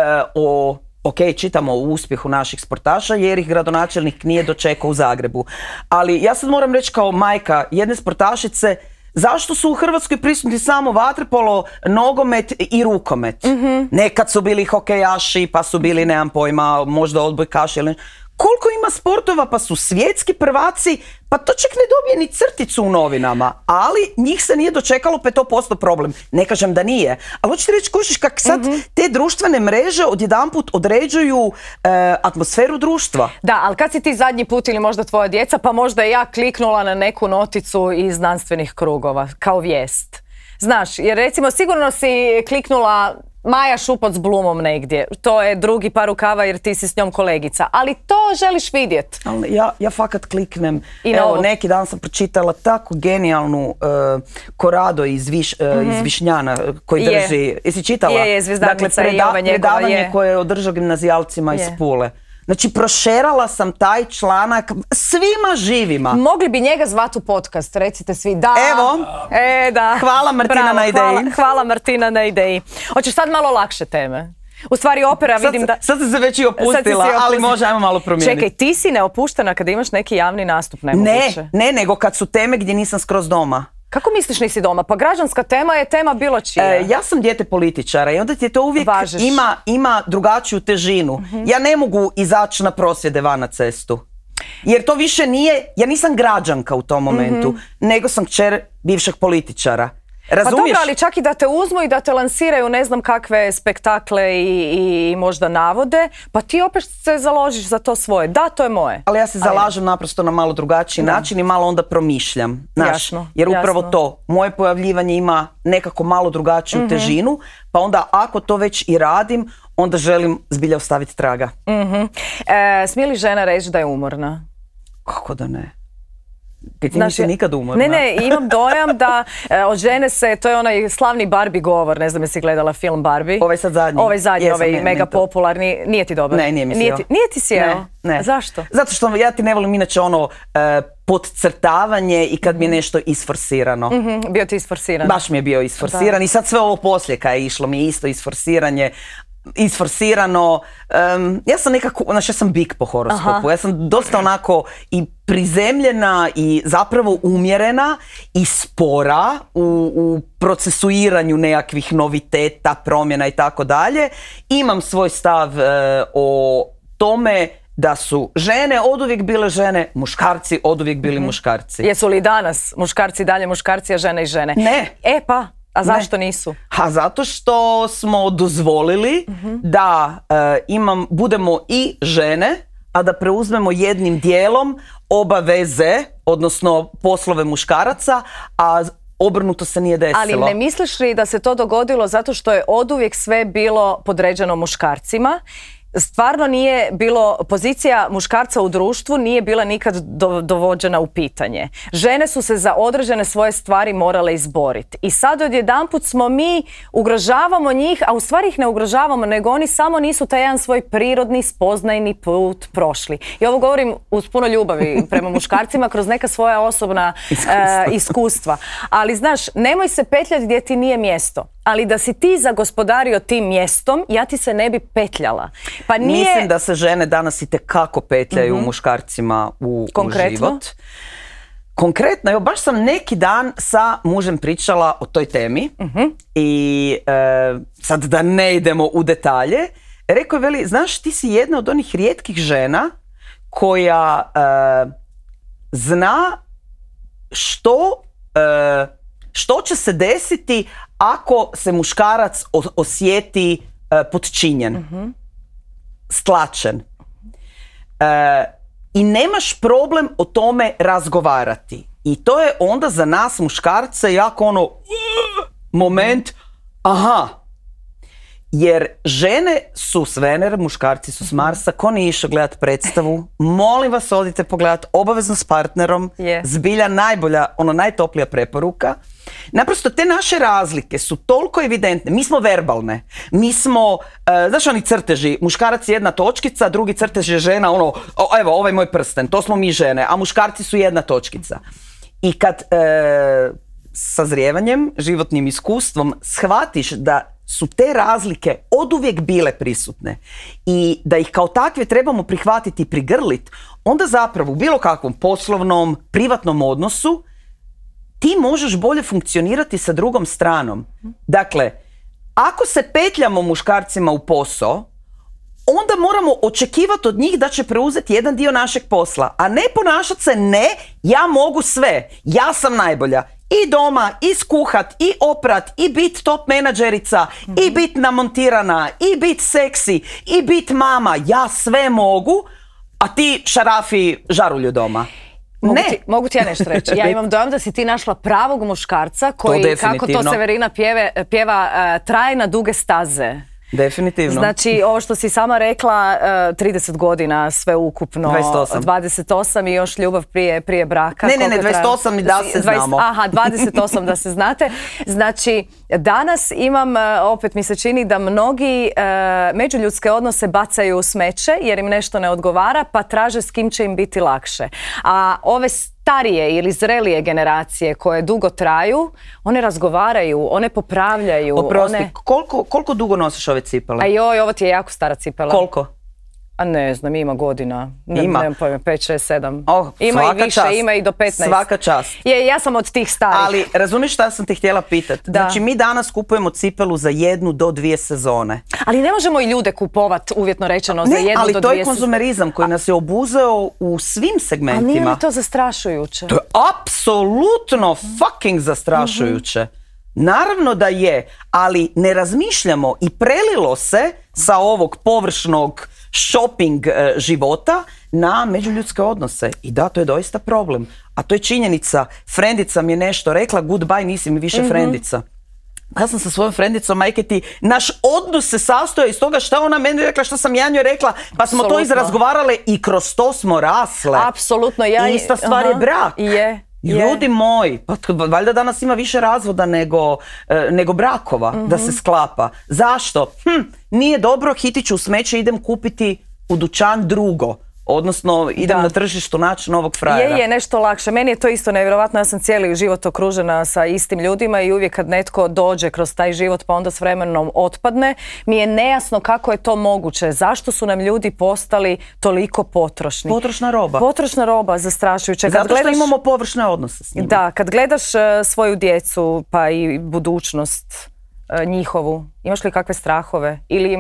čitamo o uspjehu naših sportaša jer ih gradonačelnik nije dočekao u Zagrebu. Ali ja sad moram reći kao majka jedne sportašice, zašto su u Hrvatskoj prisutni samo vaterpolo, nogomet i rukomet? Nekad su bili hokejaši, pa su bili, nemam pojma, možda odbojkaši ili koliko ima sportova, pa su svjetski prvaci, pa to čak ne dobije ni crticu u novinama, ali njih se nije dočekalo, pa je to postao problem. Ne kažem da nije, ali hoćete reći, kužiš kak sad te društvene mreže odjedanput određuju atmosferu društva. Da, ali kad si ti zadnji put ili možda tvoja djeca, pa možda ja kliknula na neku noticu iz znanstvenih krugova, kao vijest. Znaš, jer recimo sigurno si kliknula Maja Šupac s Blumom negdje. To je drugi par rukava jer ti si s njom kolegica. Ali to želiš vidjeti. Ja fakat kliknem. Evo, neki dan sam pročitala tako genijalnu Korado iz Višnjana koji drži. Jesi čitala? Je, Zvezdanica i ova njegova. Predavanje koje je održao gimnazijalcima iz Pule. Znači, prošerala sam taj članak svima živima. Mogli bi njega zvati u podcast, recite svi da. Evo, da. Hvala Martina na ideji. Hvala Martina na ideji. Hoćeš sad malo lakše teme? U stvari opera vidim da... Sad sam se već i opustila, ali može, ajmo malo promijeniti. Čekaj, ti si neopuštena kad imaš neki javni nastup, nemoguće. Ne, nego kad su teme gdje nisam skroz doma. Kako misliš nisi doma? Pa građanska tema je tema bilo čija. Ja sam dijete političara i onda ti je to uvijek ima drugačiju težinu. Ja ne mogu izaći na prosvjede van na cestu. Jer to više nije, ja nisam građanka u tom momentu, nego sam kćer bivšeg političara. Razumiješ? Pa dobro, ali čak i da te uzmu i da te lansiraju ne znam kakve spektakle i možda navode, pa ti opet se založiš za to svoje. Da, to je moje. Ali ja se zalažem naprosto na malo drugačiji način i malo onda promišljam. Jer upravo to, moje pojavljivanje ima nekako malo drugačiju težinu, pa onda ako to već i radim, onda želim zbilja ostaviti traga. Smije li žena reći da je umorna? Kako da ne? Ti nisi nikad umorna. Ne, imam dojam da od žene se, to je onaj slavni Barbie govor, ne znam jesi gledala film Barbie. Ovaj sad zadnji. Ovaj zadnji, ovaj mega popularni, nije ti dobar? Ne, nije mi sjeo. Nije ti sjeo? Ne. Zašto? Zato što ja ti ne volim inače ono podcrtavanje i kad mi je nešto isforsirano. Bio ti isforsiran? Baš mi je bio isforsiran i sad sve ovo poslije kad je išlo mi je isto isforsirano. Ja sam nekako, znači ja sam bik po horoskopu, ja sam dosta onako i prizemljena i zapravo umjerena i spora u procesuiranju nekakvih noviteta, promjena i tako dalje. Imam svoj stav o tome da su žene oduvijek bile žene, muškarci oduvijek bili muškarci. Jesu li danas muškarci dalje muškarci, a žene i žene? Ne. Pa, a zašto nisu? Zato što smo dozvolili da budemo i žene, a da preuzmemo jednim dijelom obaveze, odnosno poslove muškaraca, a obrnuto se nije desilo. Ali ne misliš li da se to dogodilo zato što je oduvijek sve bilo podređeno muškarcima? Stvarno nije bilo, pozicija muškarca u društvu nije bila nikad dovođena u pitanje. Žene su se za određene svoje stvari morale izboriti. I sad odjedanput smo mi, ugrožavamo njih, a u stvari ih ne ugrožavamo, nego oni samo nisu taj jedan svoj prirodni, spoznajni put prošli. I ovo govorim uz puno ljubavi prema muškarcima, kroz neka svoja osobna iskustva. Ali znaš, nemoj se petljati gdje ti nije mjesto. Ali da si ti zagospodario tim mjestom, ja ti se ne bi petljala. Pa nije... Mislim da se žene danas itekako petljaju muškarcima u život. Konkretno, evo baš sam neki dan sa mužem pričala o toj temi i sad da ne idemo u detalje, rekao je, veli, znaš, ti si jedna od onih rijetkih žena koja zna što će se desiti ako se muškarac osjeti podčinjen, stlačen. I nemaš problem o tome razgovarati. I to je onda za nas muškarce jako ono moment, jer žene su s Venere, muškarci su s Marsa. Ko nije išao gledat predstavu, molim vas odite pogledat, obavezno s partnerom, zbilja najbolja, najtoplija preporuka. Naprosto te naše razlike su toliko evidentne. Mi smo verbalne. Mi smo, znaš oni crteži, muškarac je jedna točkica, drugi crtež je žena, evo ovaj moj prsten, to smo mi žene, a muškarci su jedna točkica. I kad sazrijevanjem, životnim iskustvom shvatiš da su te razlike oduvijek bile prisutne i da ih kao takve trebamo prihvatiti i prigrlit, onda zapravo u bilo kakvom poslovnom, privatnom odnosu ti možeš bolje funkcionirati sa drugom stranom. Dakle, ako se petljamo muškarcima u posao, onda moramo očekivati od njih da će preuzeti jedan dio našeg posla, a ne ponašati se ja mogu sve, ja sam najbolja. I doma, i skuhat, i oprat, i bit top menadžerica, i bit namontirana, i bit seksi, i bit mama, ja sve mogu, a ti šarafi žarulju doma. Mogu ti ja nešto reći. Ja imam dojam da si ti našla pravog muškarca koji, kako to Severina pjeva, traje na duge staze. Definitivno. Znači, ovo što si sama rekla, 30 godina sve ukupno. 28 i još ljubav prije braka. Ne, 28 i da se znamo. 28 da se znate. Znači, danas imam, opet mi se čini da mnogi međuljudske odnose bacaju u smeće jer im nešto ne odgovara, pa traže s kim će im biti lakše. A ove starije ili zrelije generacije koje dugo traju, one razgovaraju, one popravljaju. Oprosti, koliko dugo nosiš ove cipele? Ajoj, ovo ti je jako stara cipela. Koliko? A ne znam, ima godina. Ima. Nemam pojma, 5, 6, 7. Ima i više, ima i do 15. Svaka čast. Ja sam od tih starih. Ali razumiješ šta sam te htjela pitati? Znači mi danas kupujemo cipelu za 1 do 2 sezone. Ali ne možemo i ljude kupovat, uvjetno rečeno, za 1 do 2 sezone. Ali to je konzumerizam koji nas je obuzeo u svim segmentima. A nije li to zastrašujuće? To je apsolutno fucking zastrašujuće. Naravno da je, ali ne razmišljamo i prelilo se sa ovog površnog shopping života na međuljudske odnose. I da, to je doista problem. A to je činjenica. Frendica mi je nešto rekla, goodbye, nisi mi više frendica. Ja sam sa svojom frendicom, majke ti, naš odnos se sastoji iz toga šta ona meni rekla, šta sam ja njoj rekla, pa smo to izrazgovarale i kroz to smo rasle. Apsolutno. Ista stvar je brak. Je. Ljudi moji, pa valjda danas ima više razvoda nego brakova da se sklapa. Zašto? Nije dobro, hitit ću u smeće, idem kupiti u dućan drugo. Odnosno, idem na tržištu naći novog frajera. Je nešto lakše. Meni je to isto nevjerovatno. Ja sam cijeli život okružena sa istim ljudima i uvijek kad netko dođe kroz taj život pa onda s vremenom otpadne, mi je nejasno kako je to moguće. Zašto su nam ljudi postali toliko potrošni? Potrošna roba. Potrošna roba, zastrašujuće. Zato što imamo površne odnose s njima. Da, kad gledaš svoju djecu pa i budućnost njihovu, imaš li kakve strahove? Ili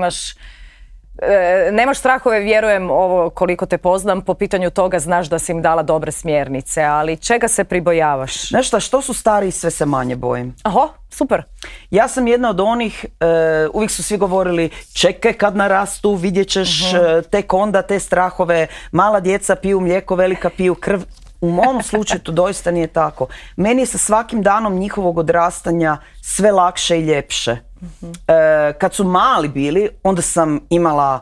nemaš strahove, vjerujem, ovo koliko te poznam, po pitanju toga znaš da si im dala dobre smjernice, ali čega se pribojavaš? Znaš šta, što su stariji, sve se manje bojim. Aha, super. Ja sam jedna od onih, uvijek su svi govorili, čekaj kad narastu, vidjet ćeš tek onda te strahove, mala djeca piju mlijeko, velika piju krv. U mom slučaju to doista nije tako. Meni je sa svakim danom njihovog odrastanja sve lakše i ljepše. Kad su mali bili, onda sam imala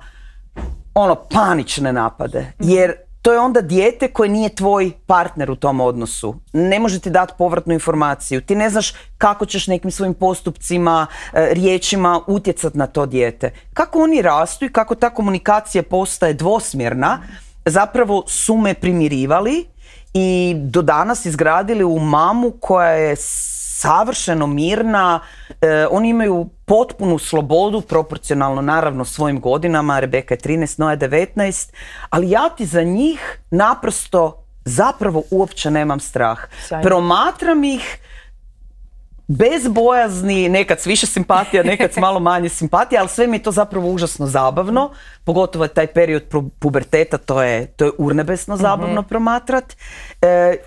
panične napade. Jer to je onda dijete koje nije tvoj partner u tom odnosu. Ne može ti dati povratnu informaciju. Ti ne znaš kako ćeš nekim svojim postupcima, riječima utjecati na to dijete. Kako oni rastu i kako ta komunikacija postaje dvosmjerna, zapravo su me primirivali i do danas izgradili u mamu koja je savršeno mirna. Oni imaju potpunu slobodu, proporcionalno naravno svojim godinama. Rebeka je 13, Noa je 19, ali ja ti za njih naprosto zapravo uopće nemam strah. Sjajno. Promatram ih bez bojazni, nekad s više simpatija, nekad s malo manje simpatija, ali sve mi je to zapravo užasno zabavno, pogotovo taj period puberteta, to je urnebesno zabavno promatrat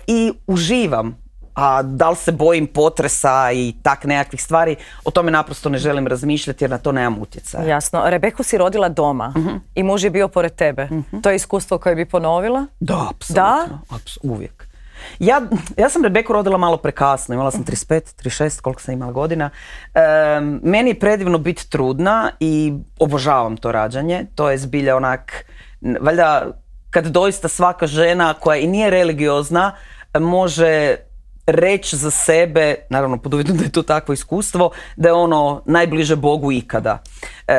i uživam. A da li se bojim potresa i tak nekakvih stvari, o tome naprosto ne želim razmišljati jer na to nemam utjecaja. Jasno. Rebeku si rodila doma i muž je bio pored tebe. To je iskustvo koje bi ponovila? Da, apsolutno. Uvijek. Ja sam Rebeku rodila malo prekasno, imala sam 35, 36, koliko sam imala godina. Meni je predivno biti trudna i obožavam to rađanje. To je zbilja onak, valjda kad doista svaka žena koja i nije religiozna može reći za sebe, naravno pod uvjetom da je to takvo iskustvo, da je ono najbliže Bogu ikada.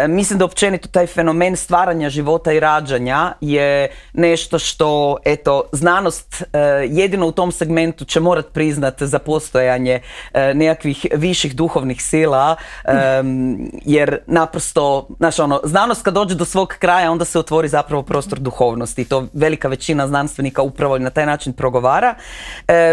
Mislim da općenito taj fenomen stvaranja života i rađanja je nešto što, eto, znanost jedino u tom segmentu će morat priznat za postojanje nekakvih viših duhovnih sila, jer naprosto, znaš ono, znanost kad dođe do svog kraja onda se otvori zapravo prostor duhovnosti i to velika većina znanstvenika upravo na taj način progovara.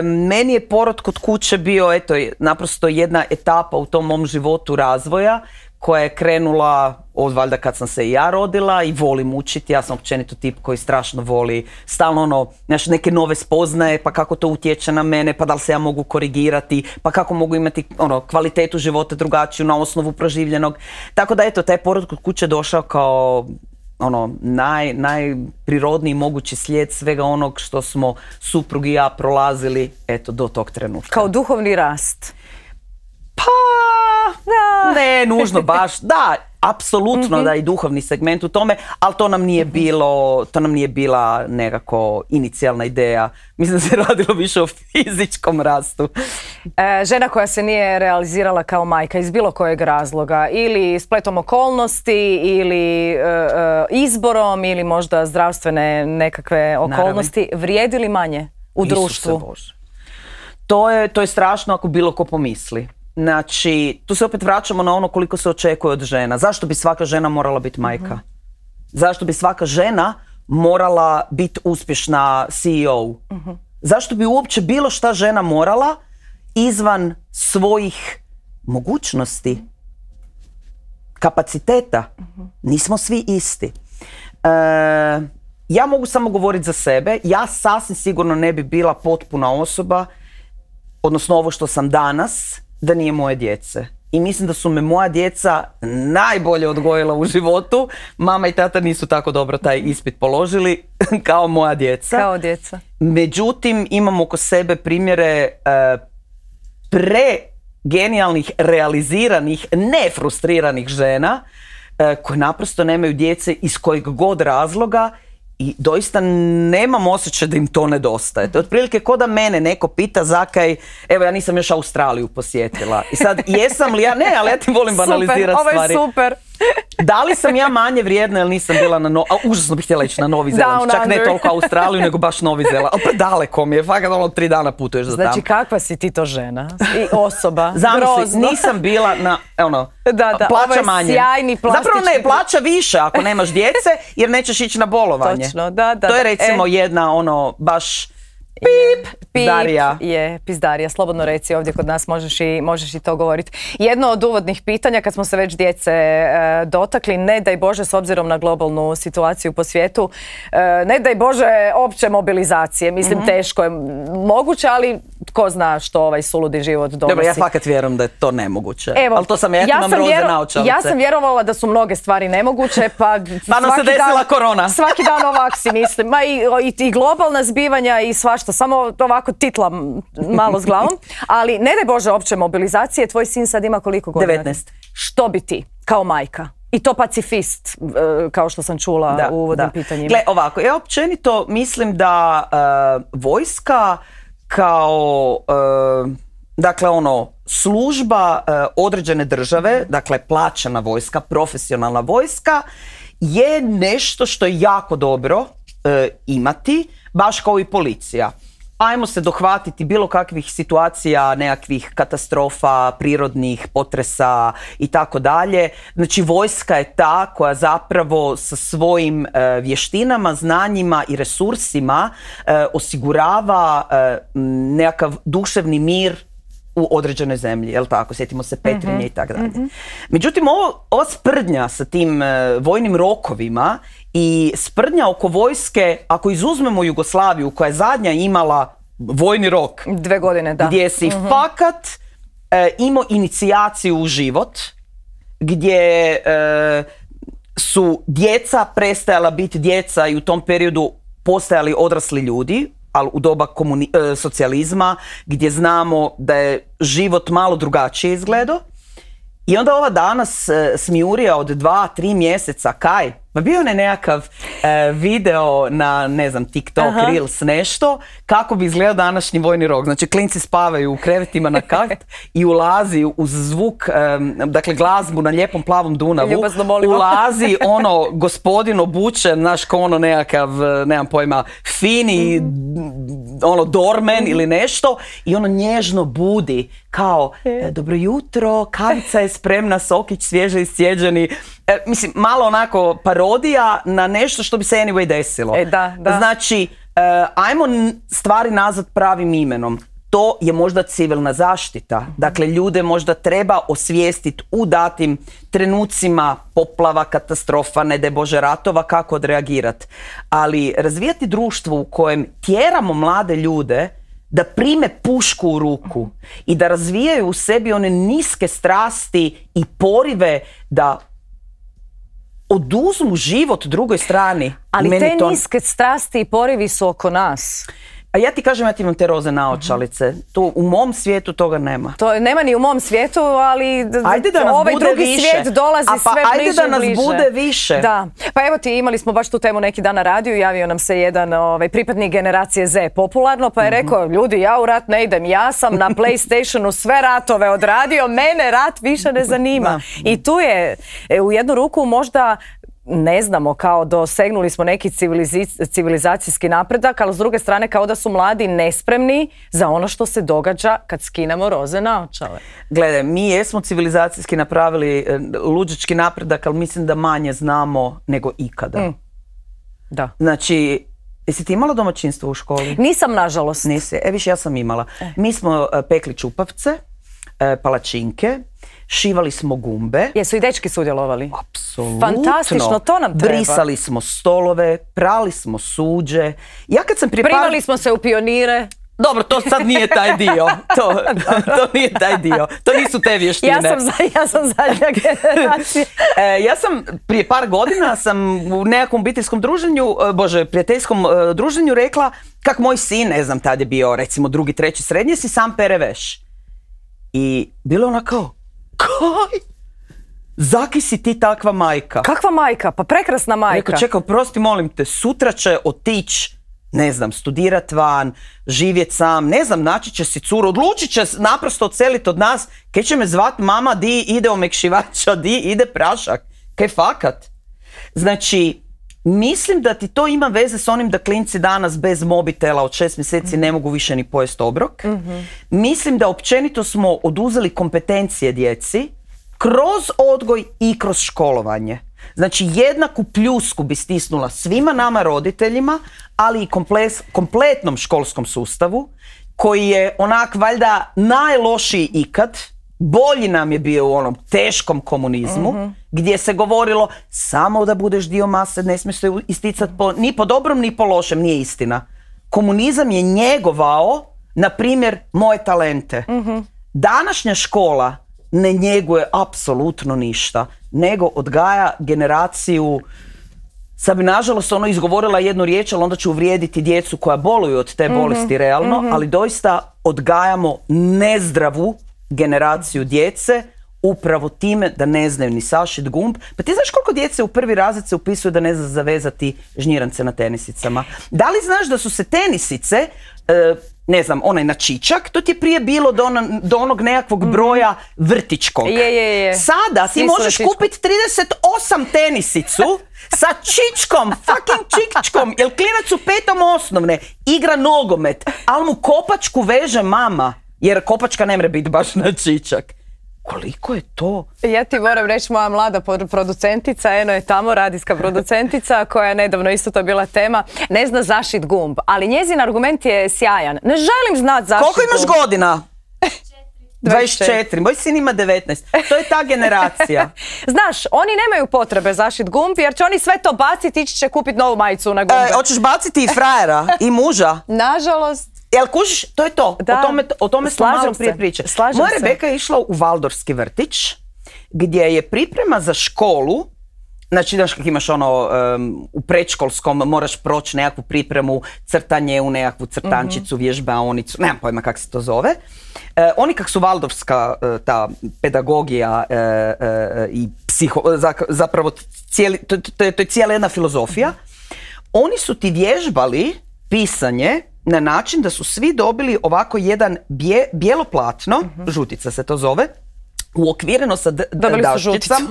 Meni je porod kod kuće bio, eto, naprosto jedna etapa u tom mom životu razvoja koja je krenula od valjda kad sam se i ja rodila i volim učiti. Ja sam općenito tip koji strašno voli stalno neke nove spoznaje, pa kako to utječe na mene, pa da li se ja mogu korigirati, pa kako mogu imati kvalitetu života drugačiju na osnovu proživljenog. Tako da eto, taj porod kod kuće došao kao najprirodniji mogući slijed svega onog što smo suprug i ja prolazili, eto, do tog trenutka. Kao duhovni rast? Pa, ne, nužno baš, da, apsolutno da i duhovni segment u tome, ali to nam nije bila nekako inicijalna ideja. Mislim da se radilo više o fizičkom rastu. Žena koja se nije realizirala kao majka iz bilo kojeg razloga, ili spletom okolnosti, ili izborom, ili možda zdravstvene nekakve okolnosti, vrijedi li manje u društvu? Isuse Bože. To je strašno ako bilo ko pomisli. Znači, tu se opet vraćamo na ono koliko se očekuje od žena. Zašto bi svaka žena morala biti majka? Zašto bi svaka žena morala biti uspješna CEO? Zašto bi uopće bilo šta žena morala izvan svojih mogućnosti, kapaciteta? Nismo svi isti. Ja mogu samo govoriti za sebe. Ja sasvim sigurno ne bi bila potpuna osoba, odnosno ovo što sam danas, da nije moje djece. I mislim da su me moja djeca najbolje odgojila u životu. Mama i tata nisu tako dobro taj ispit položili kao moja djeca. Kao djeca. Međutim, imam oko sebe primjere genijalnih, realiziranih, nefrustriranih žena koje naprosto nemaju djece iz kojeg god razloga i doista nemam osjećaj da im to nedostaje. To je otprilike ko da mene neko pita zakaj, evo ja nisam još Australiju posjetila. I sad, jesam li ja, ne, ali ja ti volim banalizirati stvari. Ovo je super. Da li sam ja manje vrijedna jer nisam bila užasno bih htjela ići na Novi Zeland. Čak ne toliko Australiju, nego baš Novi Zeland. Ali pa daleko mi je, fakat 3 dana putuješ za tamo. Znači kakva si ti to žena i osoba? Zamisli, nisam bila na, plaća manje. Sjajni plastični... Zapravo ne, plaća više ako nemaš djece jer nećeš ići na bolovanje. Točno, da. To je recimo jedna baš... Pizdarija. Pizdarija, slobodno reci, ovdje kod nas možeš i to govoriti. Jedno od uvodnih pitanja, kad smo se već djece dotakli, ne daj Bože, s obzirom na globalnu situaciju po svijetu, ne daj Bože opće mobilizacije. Mislim, teško je moguće, ali tko zna što ovaj suludi život donosi. Dobro, ja fakat vjerujem da je to nemoguće. Evo, ali to sam ja imam roze naočalice. Ja sam vjerovala da su mnoge stvari nemoguće, pa nam se desila korona. Svaki dan ovak si mislim. Ma i globalna zbivanja i svašta, samo ovako titlam malo s glavom. Ali ne daj Bože opće mobilizacije, tvoj sin sad ima koliko godina? 19. Što bi ti kao majka? I to pacifist, kao što sam čula u uvodnim pitanjima. Gle, ovako, ja općenito mislim da vojska kao, služba određene države, dakle plaćena vojska, profesionalna vojska, je nešto što je jako dobro imati, baš kao i policija. Ajmo se dohvatiti bilo kakvih situacija, nekakvih katastrofa, prirodnih potresa i tako dalje. Znači vojska je ta koja zapravo sa svojim vještinama, znanjima i resursima osigurava nekakav duševni mir u određenoj zemlji, jel tako? Sjetimo se Petrinje i tako dalje. Međutim, ova sprdnja sa tim vojnim rokovima i sprdnja oko vojske, ako izuzmemo Jugoslaviju koja je zadnja imala vojni rok 2 godine, da. Gdje si fakat imao inicijaciju u život, gdje su djeca prestajala biti djeca i u tom periodu postajali odrasli ljudi, ali u doba socijalizma, gdje znamo da je život malo drugačije izgledao. I onda ova danas smijurija od 2-3 mjeseca, kaj? Pa bio je nekakav video na, ne znam, TikTok, Reels, nešto, kako bi izgledao današnji vojni rok. Znači, klinci spavaju u krevetima na kat i ulazi uz zvuk, dakle, glazbu na lijepom plavom Dunavu. Ulazi gospodin obučen, znaš, ko nekakav, nemam pojma, fini, dormen ili nešto i nježno budi kao, dobro jutro, kavica je spremna, sokić svježe iscijeđeni. Mislim, malo onako parodija na nešto što bi se anyway desilo. Da. Znači, ajmo stvari nazvat pravim imenom. To je možda civilna zaštita. Dakle, ljude možda treba osvijestiti u datim trenucima poplava, katastrofa, ne daj Bože ratova, kako odreagirati. Ali razvijati društvo u kojem tjeramo mlade ljude da prime pušku u ruku i da razvijaju u sebi one niske strasti i porive da oduzmu život drugoj strani. Ali te niske strasti i porivi su oko nas. A ja ti kažem, ja ti imam te roze naočalice. U mom svijetu toga nema. To nema ni u mom svijetu, ali ovaj drugi svijet dolazi sve bliže i bliže. Ajde da nas bude više. Da. Pa evo ti, imali smo baš tu temu neki dan na radiju, javio nam se jedan pripadnik generacije Z popularno, pa je rekao, ljudi, ja u rat ne idem, ja sam na PlayStationu sve ratove odradio, mene rat više ne zanima. I tu je u jednu ruku možda ne znamo, kao dosegnuli smo neki civilizacijski napredak, ali s druge strane kao da su mladi nespremni za ono što se događa kad skinemo roze naočale. Gledaj, mi jesmo civilizacijski napravili luđački napredak, ali mislim da manje znamo nego ikada. Da. Znači, jesi ti imala domaćinstvo u školi? Nisam, nažalost. Nisi. Viš, ja sam imala. Mi smo pekli čupavce, palačinke, šivali smo gumbe. Jesu i dečki sudjelovali? Apsolutno. Fantastično, to nam treba. Brisali smo stolove, prali smo suđe. Ja kad sam primali smo se u pionire. Dobro, to sad nije taj dio. To nije taj dio. To nisu te vještine. Ja sam zadnja generacija. Ja sam prije par godina u nekakvom obiteljskom druženju, prijateljskom druženju rekla kak moj sin, ne znam, tad je bio recimo 2., 3. srednje, si sam pere veš. I bilo ona kao, kaj? Zaki si ti takva majka? Kakva majka? Pa prekrasna majka. Rekao, čekaj, oprosti, molim te, sutra će otići, ne znam, studirat van, živjet sam, ne znam, naći će si curu, odlučit će naprosto odseliti od nas, kaj će me zvat mama, di ide omekšivača, di ide prašak, kaj fakat. Znači, mislim da ti to ima veze s onim da klinci danas bez mobitela od 6 mjeseci ne mogu više ni pojest obrok. Mislim da općenito smo oduzeli kompetencije djeci kroz odgoj i kroz školovanje. Znači, jednaku pljusku bi stisnula svima nama roditeljima, ali i kompletnom školskom sustavu, koji je onak valjda najlošiji ikad. Bolji nam je bio u onom teškom komunizmu, gdje se govorilo samo da budeš dio mase, ne smiješ se isticati ni po dobrom ni po lošem, nije istina. Komunizam je njegovao, na primjer, moje talente. Današnja škola ne njeguje apsolutno ništa, nego odgaja generaciju. Sad bi nažalost izgovorila jednu riječ, ali onda ću uvrijediti djecu koja boluju od te bolesti realno, ali doista odgajamo nezdravu generaciju djece upravo time da ne znaju ni sašit gumb. Pa ti znaš koliko djece u 1. razred se upisuju da ne zna zavezati žnjirance na tenisicama? Da li znaš da su se tenisice, ne znam, onaj na čičak, to ti je prije bilo do onog nekakvog broja vrtičkog. Sada ti možeš kupiti 38 tenisicu sa čičkom, fucking čičkom, jer klinac u 5. osnovne igra nogomet, ali mu kopačku veže mama, jer kopačka ne mre biti baš na čičak. Koliko je to? Ja ti moram reći, moja mlada producentica, eno je tamo, radijska producentica, koja je nedavno isto to bila tema, ne zna zašit gumb, ali njezin argument je sjajan. Ne želim znat zašit gumb. Koliko imaš godina? 24. Moj sin ima 19. To je ta generacija. Znaš, oni nemaju potrebe zašit gumb, jer će oni sve to baciti, ići će kupiti novu majicu na gumbe. Hoćeš baciti i frajera, i muža? Nažalost. Jel kužiš, to je to. O tome smo malo prije pričali. Moja Rebeka je išla u Valdorski vrtić, gdje je priprema za školu. Znači, znaš kak imaš u predškolskom moraš proći nekakvu pripremu, crtanje u nekakvu crtančicu, vježbaonicu, nemam pojma kak se to zove. Oni kak su Valdorska, ta pedagogija i zapravo to je cijela jedna filozofija. Oni su ti vježbali pisanje na način da su svi dobili ovako jedan bijelo platno, žutica se to zove, uokvireno sa daščicama,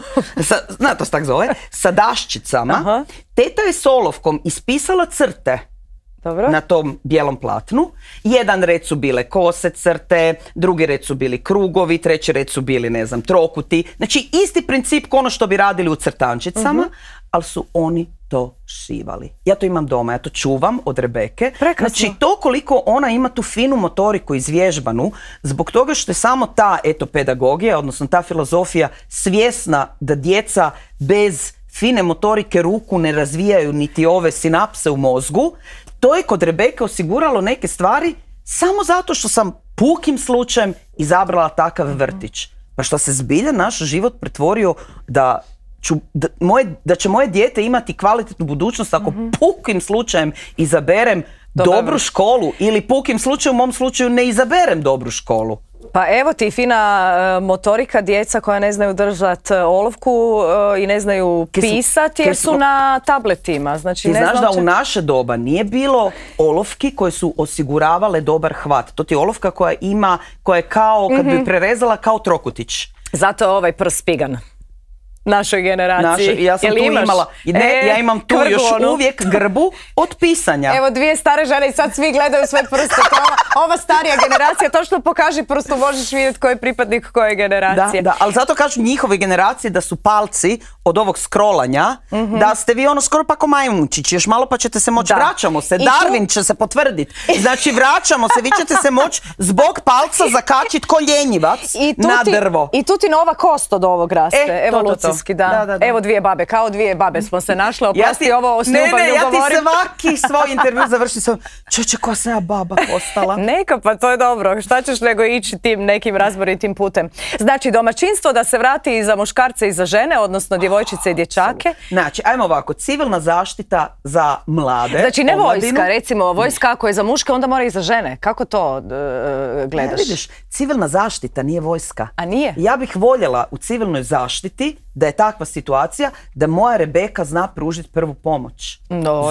zna to se tak zove, sa daščicama. Teta je s olovkom ispisala crte na tom bijelom platnu. Jedan red su bile kose crte, drugi red su bili krugovi, treći red su bili, ne znam, trokuti. Znači, isti princip kao ono što bi radili u crtančicama, ali su oni to šivali. Ja to imam doma, ja to čuvam od Rebeke. Prekrasno. Znači, to koliko ona ima tu finu motoriku izvježbanu, zbog toga što je samo ta pedagogija, odnosno ta filozofija svjesna da djeca bez fine motorike ruku ne razvijaju niti ove sinapse u mozgu, to je kod Rebeke osiguralo neke stvari samo zato što sam pukim slučajem izabrala takav vrtić. Pa što se zbilja naš život pretvorio da će moje dijete imati kvalitetnu budućnost ako pukim slučajem izaberem dobru školu ili pukim slučajem, u mom slučaju, ne izaberem dobru školu. Pa evo ti fina motorika, djeca koja ne znaju držati olovku i ne znaju pisati jer su na tabletima. Znači, ti znaš da u naše doba nije bilo olovki koje su osiguravale dobar hvat. To ti je olovka koja je kao, kad bi prerezala, kao trokutić. Zato je ovaj prst spigan. našoj generaciji. Ja sam tu imala, ja imam tu još uvijek grbu od pisanja. Evo dvije stare žene i sad svi gledaju sve prste. Ova starija generacija, to što pokaži prstu možeš vidjeti ko je pripadnik koje generacije. Da, ali zato kažu njihove generacije da su palci od ovog scrollanja, da ste vi ono skoro pa ko majmunčić, još malo pa ćete se moći, vraćamo se, Darwin će se potvrditi. Znači vraćamo se, vi ćete se moći zbog palca zakačiti ko ljenjivac na drvo. I tu ti nova kost od ovog raste, evolucijski, da. Evo dvije babe, kao dvije babe smo se našle, oprosti ovo s ljubavlju govorim. Ja ti svaki svoj intervju završi sam, čeće koja sam ja baba postala. Neka, pa to je dobro, šta ćeš nego ići tim nekim razboritim putem. Znači domaćinstvo da se vrati i za muškarce i za žene, odnosno djevojčice i dječake. Znači, ajmo ovako, civilna zaštita za mlade. Znači ne vojska, recimo vojska ako je za muške onda mora i za žene. Kako to gledaš? Ne, vidiš, civilna zaštita nije vojska. A nije? Ja bih voljela u civilnoj zaštiti da je takva situacija da moja Rebeka zna pružiti prvu pomoć.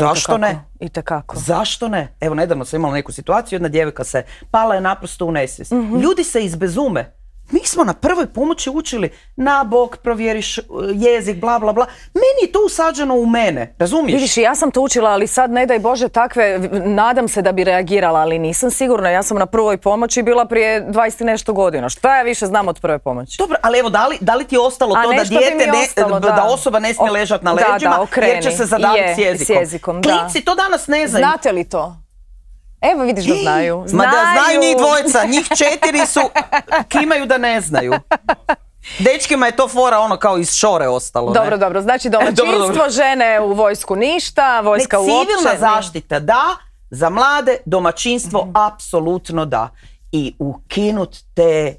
Zašto ne? Itekako. Zašto ne? Evo, nedavno sam imala neku situaciju, jedna djevojka se pala je naprosto u nesvijest. Ljudi se izbezume. Mi smo na prvoj pomoći učili na bok, provjeriš jezik, bla bla bla. Meni je to usađeno u mene, razumiješ? Vidiš, ja sam to učila, ali sad ne daj Bože takve, nadam se da bi reagirala, ali nisam sigurna. Ja sam na prvoj pomoći bila prije 20 i nešto godina. Šta ja više znam od prve pomoći? Dobro, ali evo, da li ti je ostalo to da dijete, da osoba ne smije ležati na leđima jer će se zadaviti s jezikom? Klinci to danas ne znaju. Znate li to? Evo vidiš da znaju. Znaju njih dvojica, njih 4 su, kimaju da ne znaju. Dečkima je to fora ono kao iz šore ostalo. Dobro, znači domaćinstvo, žene u vojsku ništa, vojska uopće. Civilna zaštita da, za mlade domaćinstvo apsolutno da. I ukinut te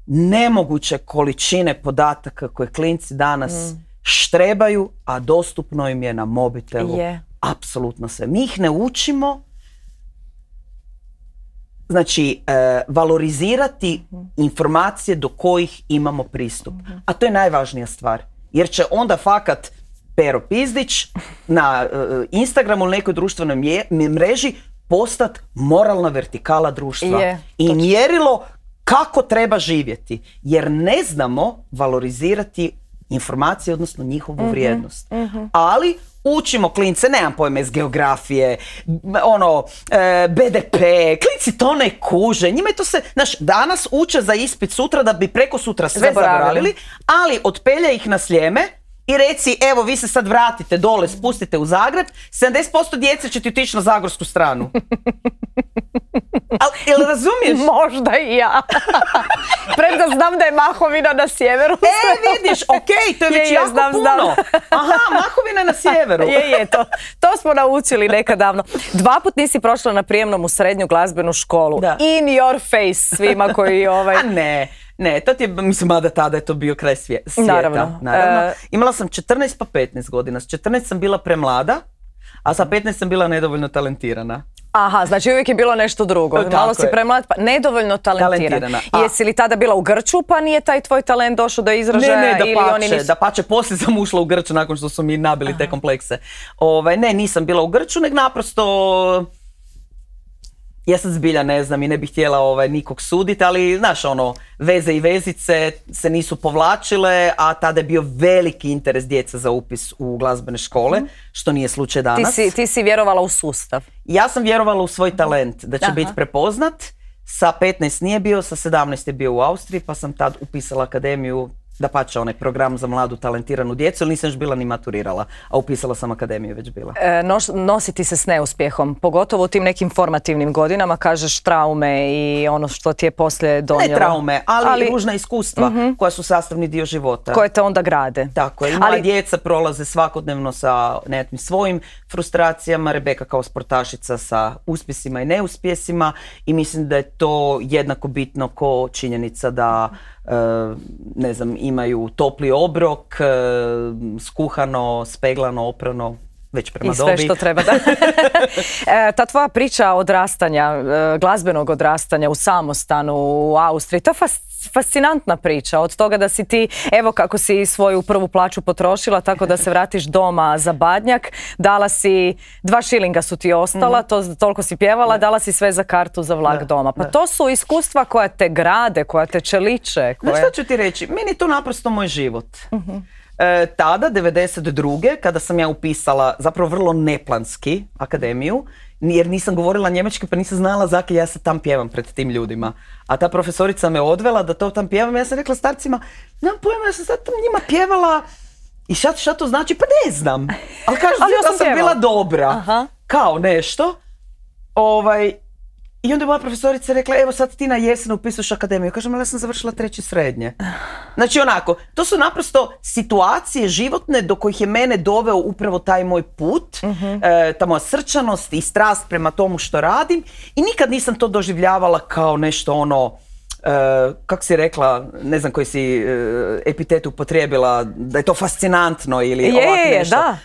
nemoguće količine podataka koje klinci danas štrebaju, a dostupno im je na mobitelu. Apsolutno sve. Mi ih ne učimo. Znači, valorizirati informacije do kojih imamo pristup. A to je najvažnija stvar. Jer će onda fakat Pero Pizdić na Instagramu ili nekoj društvenoj mreži postati moralna vertikala društva. I mjerilo kako treba živjeti. Jer ne znamo valorizirati informacije, odnosno njihovu vrijednost. Ali učimo klince, nemam pojma iz geografije, BDP, klinci to ne kuže, njima je to se, znaš, danas uče za ispit sutra da bi preko sutra sve zaboravili, ali otpelja ih na Sljeme i reci, evo vi se sad vratite dole, spustite u Zagreb, 70% djece će ti otići na zagorsku stranu. Jel razumiješ? Možda i ja. Premda znam da je Mahovina na sjeveru. Vidiš, okej, to je već jako puno. Aha, Mahovina na sjeveru. To smo naučili nekad davno. 2 put nisi prošla na prijemnom u srednju glazbenu školu. In your face svima koji Ne, to ti je, mislim, mada tada je to bio kraj svijeta. Naravno. Imala sam 14 pa 15 godina. S 14 sam bila premlada, a sa 15 sam bila nedovoljno talentirana. Aha, znači uvijek je bilo nešto drugo. Malo si premlad, pa nedovoljno talentirana. Jesi li tada bila u Grču pa nije taj tvoj talent došao do izražaja? Ne, dapače, poslije sam ušla u Grču nakon što su mi nabili te komplekse. Ne, nisam bila u Grču, nego naprosto ja sad zbilja ne znam i ne bih htjela nikog suditi, ali znaš veze i vezice se nisu povlačile, a tada je bio veliki interes djeca za upis u glazbene škole, što nije slučaj danas. Ti si vjerovala u sustav? Ja sam vjerovala u svoj talent, da će biti prepoznat. Sa 15 nije bio, sa 17 je bio u Austriji, pa sam tad upisala akademiju, dapače onaj program za mladu talentiranu djecu, ali nisam još bila ni maturirala, a upisala sam akademiju već bila. Nositi se s neuspjehom, pogotovo u tim nekim formativnim godinama, kažeš traume i ono što ti je poslije donijelo. Ne traume, ali ružna iskustva koja su sastavni dio života. Koje te onda grade. Tako je, i moja djeca prolaze svakodnevno sa nekakvim svojim frustracijama, Rebeka kao sportašica sa uspjesima i neuspjesima i mislim da je to jednako bitno ko činjenica da ne znam, imaju topli obrok, skuhano, speglano, oprano, već prema dobi. I sve što treba, da. Ta tvoja priča odrastanja, glazbenog odrastanja u samostanu u Austriji, to je fascinantna priča. Od toga da si ti, evo kako si svoju prvu plaću potrošila, tako da se vratiš doma za Badnjak, dala si 2 šilinga su ti ostala, toliko si pjevala, dala si sve za kartu za vlak doma. Pa to su iskustva koja te grade, koja te čeliče. Znaš što ću ti reći? Meni je to naprosto moj život. tada, 92. kada sam ja upisala zapravo vrlo neplanski akademiju, jer nisam govorila njemački pa nisam znala zakaj ja se tam pjevam pred tim ljudima. A ta profesorica me odvela da to tam pjevam. Ja sam rekla starcima, nemam pojma, ja sam sad tam njima pjevala i šta to znači? Pa ne znam. Ali kažu da sam bila dobra. Aha. Kao nešto. I onda je moja profesorica rekla, evo sad ti na jesen upisuješ akademiju. Kažem, ali ja sam završila 3. srednje. Znači onako, to su naprosto situacije životne do kojih je mene doveo upravo taj moj put, ta moja srčanost i strast prema tomu što radim. I nikad nisam to doživljavala kao nešto kako si rekla, ne znam koji si epitet upotrijebila, da je to fascinantno ili ovako nešto. Da.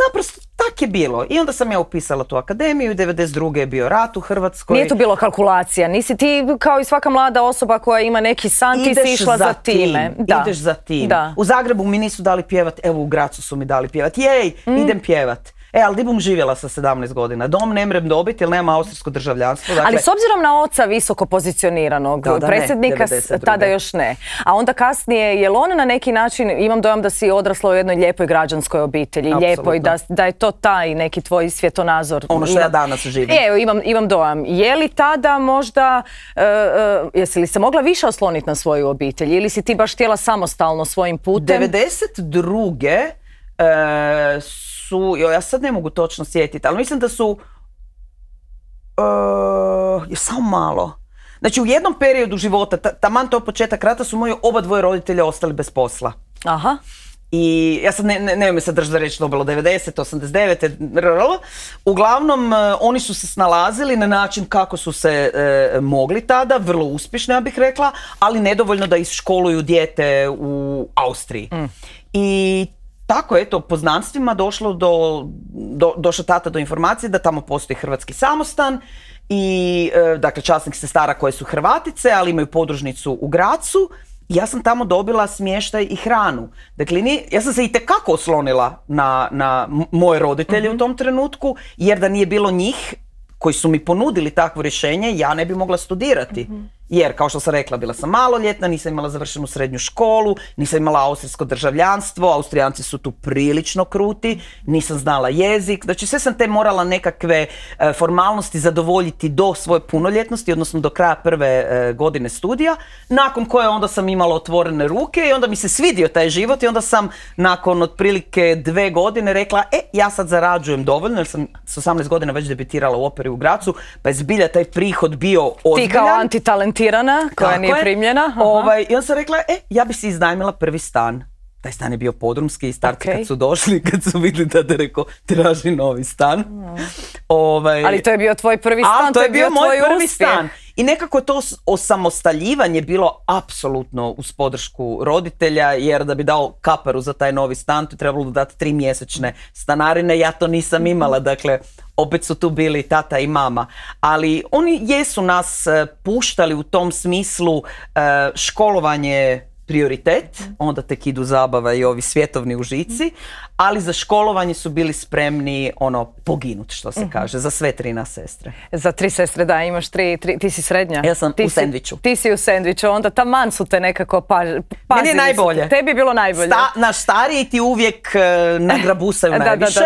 Naprosto tak je bilo. I onda sam ja upisala tu akademiju, 92. je bio rat u Hrvatskoj. Nije to bilo kalkulacija, nisi ti kao i svaka mlada osoba koja ima neki san, ti si išla za time. Ideš za tim. Da. U Zagrebu mi nisu dali pjevat, evo u Gracu su mi dali pjevat. Jej, idem pjevat. Ali di bom živjela sa 17 godina? Dom ne mrem dobiti jer nema austrijsko državljanstvo. Dakle, ali s obzirom na oca visoko pozicioniranog predsjednika, tada još ne. A onda kasnije, je li on na neki način, imam dojam da si odrasla u jednoj lijepoj građanskoj obitelji, lijepoj, da je to taj neki tvoj svjetonazor. Ono što ja danas živim. Evo, imam dojam. Je li tada možda, jesi li se mogla više osloniti na svoju obitelj ili si ti baš htjela samostalno svojim putem? 92. Ja sad ne mogu točno sjetiti, ali mislim da su samo malo. Znači u jednom periodu života, taman to početak rata, su moji oba dvoje roditelja ostali bez posla. Aha. I ja sad ne mi se držati da reći to bilo 90, 89, uglavnom oni su se snalazili na način kako su se mogli tada, vrlo uspješno ja bih rekla, ali nedovoljno da iškoluju dijete u Austriji. I tako, eto, poznanstvima došao tata do informacije da tamo postoji hrvatski samostan i, dakle, časnih sestara koje su Hrvatice, ali imaju podružnicu u Gracu. Ja sam tamo dobila smještaj i hranu. Dakle, ja sam se itekako oslonila na moje roditelje u tom trenutku, jer da nije bilo njih koji su mi ponudili takvo rješenje, ja ne bi mogla studirati. Jer, kao što sam rekla, bila sam maloljetna, nisam imala završenu srednju školu, nisam imala austrijsko državljanstvo, Austrijanci su tu prilično kruti, nisam znala jezik, znači sve sam te morala nekakve formalnosti zadovoljiti do svoje punoljetnosti, odnosno do kraja prve godine studija, nakon koje onda sam imala otvorene ruke i onda mi se svidio taj život i onda sam nakon otprilike 2 godine rekla, ja sad zarađujem dovoljno, jer sam s 18 godina već debitirala u operi u Gracu, pa je zbilja taj prihod bio ozbiljan. Ti kao antitalentirana, koja nije primljena. I onda sam rekla, ja bi si iznajmila prvi stan. Taj stan je bio podrumski i starci kad su došli, kad su vidjeli da rekao traži novi stan. Ali to je bio tvoj prvi stan, to je bio moj prvi stan. I nekako je to osamostaljivanje bilo apsolutno uz podršku roditelja, jer da bi dao kaparu za taj novi stan, tu je trebalo dati 3 mjesečne stanarine, ja to nisam imala, dakle, opet su tu bili tata i mama. Ali oni jesu nas puštali u tom smislu, školovanje prioritet, onda tek idu zabava i ovi svjetovni užici, ali za školovanje su bili spremni poginut, što se kaže, za sve 3 nas sestre. Za 3 sestre, da, imaš 3, ti si srednja. Ja sam u sendviču. Ti si u sendviču, onda taman su te nekako pazili. Meni je najbolje. Tebi je bilo najbolje. Naš stariji ti uvijek nagrabusaju najviše,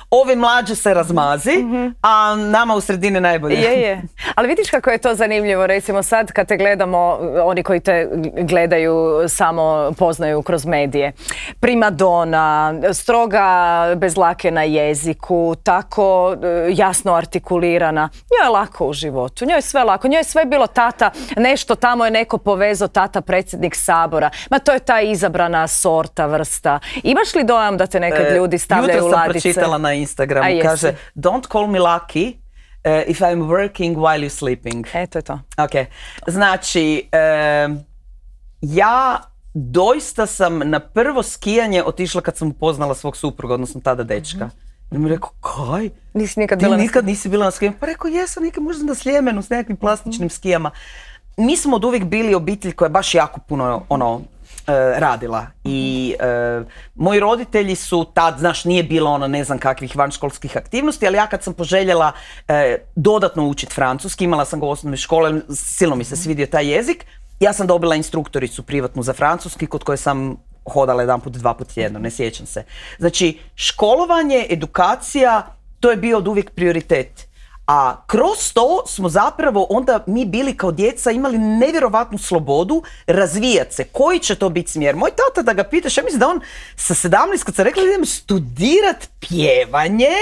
ovi mlađe se razmazi, a nama u sredini najbolje. Je. Ali vidiš kako je to zanimljivo, recimo sad kad te gledamo, oni koji te gledaju samo poznaju kroz medije. Primadona, stroga bez lake na jeziku, tako jasno artikulirana. Njoj je lako u životu, njoj je sve lako, njoj je sve bilo tata, nešto tamo je neko povezao, tata predsjednik Sabora. Ma to je ta izabrana sorta, vrsta. Imaš li dojam da te nekad ljudi stavljaju u ladice? Jutro sam pročitala na Instagramu, kaže don't call me lucky if I'm working while you're sleeping. To je to. Ok, znači ja doista sam na prvo skijanje otišla kad sam upoznala svog supruga, odnosno tada dečka. I mi rekao, kaj? Nikad nisi bila na skijanju? Pa rekao, jesam nikad možda na Sljemenu s nekakvim plastičnim skijama. Mi smo od uvijek bili obitelj koja je baš jako puno radila. I moji roditelji su tad, znaš, nije bilo ne znam kakvih vanškolskih aktivnosti, ali ja kad sam poželjela dodatno učiti francuski, imala sam ga u osnovnoj školi, silno mi se svidio taj jezik, ja sam dobila instruktoricu privatnu za francuski kod koje sam hodala jedanput, 2 puta tjedno, ne sjećam se. Znači, školovanje, edukacija, to je bio od uvijek prioritet. A kroz to smo zapravo onda mi bili kao djeca imali nevjerovatnu slobodu razvijati se. Koji će to biti smjer? Moj tata, da ga pitaš, ja mislim da on sa 17, kad sam rekla da idem studirat pjevanje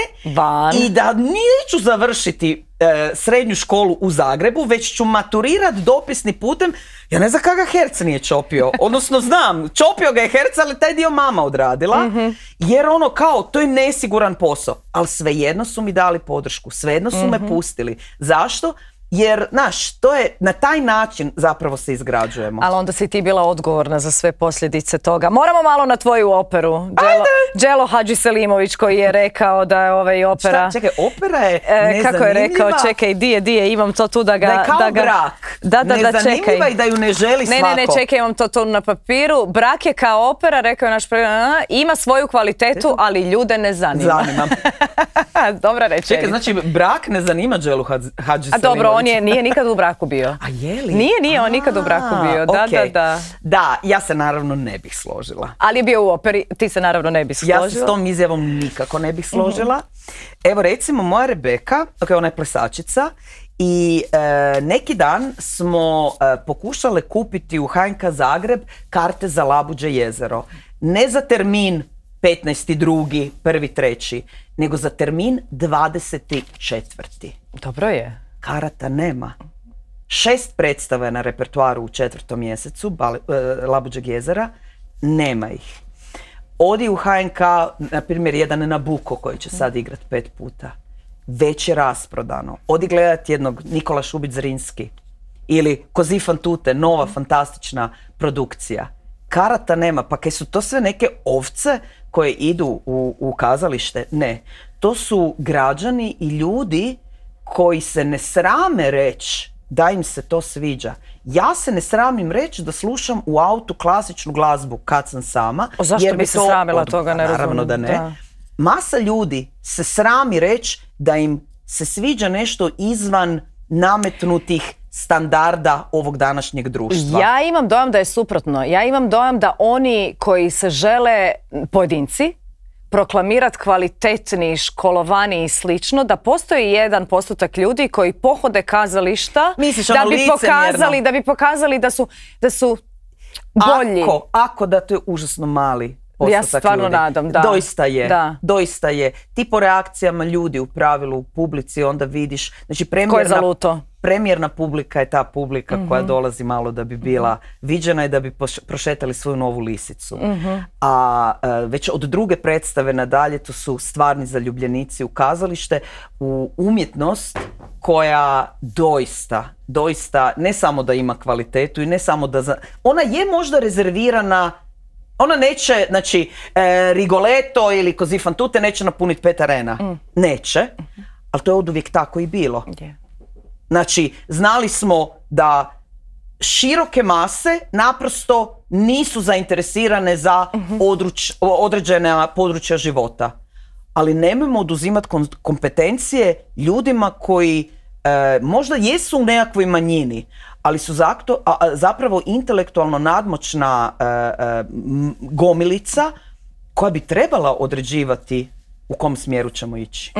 i da neću završiti srednju školu u Zagrebu, već ću maturirat dopisni putem. Ja ne znam kada ga herc nije čopio. Odnosno znam, čopio ga je herc, ali taj dio mama odradila. Jer ono kao, to je nesiguran posao. Ali svejedno su mi dali podršku. Svejedno su me pustili. Zašto? Jer, znaš, to je, na taj način zapravo se izgrađujemo. Ali onda si ti bila odgovorna za sve posljedice toga. Moramo malo na tvoju operu. Đelo Hadžiselimović koji je rekao da je opera... Šta? Čekaj, opera je nezanimljiva. Kako je rekao, čekaj, di je, imam to tu da ga... Da je kao brak. Nezanimljiva i da ju ne želi svako. Ne, čekaj, imam to tu na papiru. Brak je kao opera, rekao je naš ima svoju kvalitetu, ali ljude ne zanima. Zanima. Dobra rečenica. Čekaj, znači brak ne zanima Đelu Hadžiselimović. A dobro, on nije nikad u braku bio. A je li? Nije on nikad u braku bio. Da. Da, ja se naravno ne bih složila. Ali je bio u operi, ti se naravno ne bih složila. Ja se s tom izjavom nikako ne bih složila. Evo recimo moja Rebeka, ona je plesačica, i neki dan smo pokušale kupiti u HNK Zagreb karte za Labuđe jezero. Ne za termin 15.2., 1.3., nego za termin 24. Dobro je. Karata nema. 6 predstava je na repertoaru u 4. mjesecu Labuđeg jezera, nema ih. Odi u HNK, na primjer, jedan Nabuko koji će sad igrat 5 puta. Već je rasprodano. Odi gledat jednog Nikola Šubić-Zrinski ili Così fan tutte, nova fantastična produkcija. Karata nema, pa kaj su to sve neke ovce koje idu u kazalište? Ne. To su građani i ljudi koji se ne srame reći da im se to sviđa. Ja se ne sramim reći da slušam u autu klasičnu glazbu kad sam sama. Zašto bi se sramila toga, ne razumijem. Naravno da ne. Da. Masa ljudi se srami reći da im se sviđa nešto izvan nametnutih standarda ovog današnjeg društva. Ja imam dojam da je suprotno. Ja imam dojam da oni koji se žele, pojedinci, proklamirati kvalitetni, školovani i slično, da postoji jedan postotak ljudi koji pohode kazališta da bi pokazali da su bolji. Ako da, to je užasno mali postotak. Ja se stvarno nadam, da. Doista je. Ti po reakcijama ljudi u pravilu u publici onda vidiš, znači premijerna publika je ta publika koja dolazi malo da bi bila viđena i da bi prošetali svoju novu lisicu. A već od druge predstave nadalje to su stvarni zaljubljenici u kazalište, u umjetnost koja doista ne samo da ima kvalitetu i ne samo da... Ona je možda rezervirana. Ona neće, znači, Rigoletto ili Così fan tutte neće napuniti 5 arena. Neće, ali to je oduvijek tako i bilo. Znači, znali smo da široke mase naprosto nisu zainteresirane za određena područja života. Ali nemojmo oduzimati kompetencije ljudima koji možda jesu u nekakvoj manjini, ali su zapravo intelektualno nadmoćna gomilica koja bi trebala određivati u kom smjeru ćemo ići.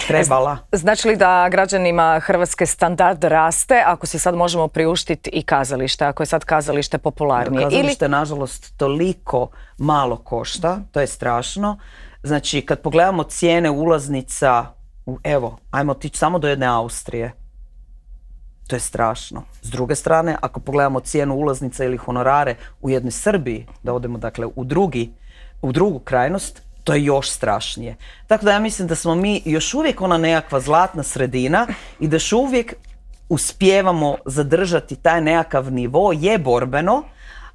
Trebala. Znači li da građanima Hrvatske standard raste ako si sad možemo priuštiti i kazalište, ako je sad kazalište popularnije? Kazalište, nažalost, toliko malo košta, to je strašno. Znači, kad pogledamo cijene ulaznica, evo, ajmo otići samo do jedne Austrije. To je strašno. S druge strane, ako pogledamo cijenu ulaznica ili honorare u jednoj Srbiji, da odemo dakle u drugu krajnost, to je još strašnije. Tako da ja mislim da smo mi još uvijek ona nekakva zlatna sredina i da još uvijek uspijevamo zadržati taj nekakav nivo, je borbeno,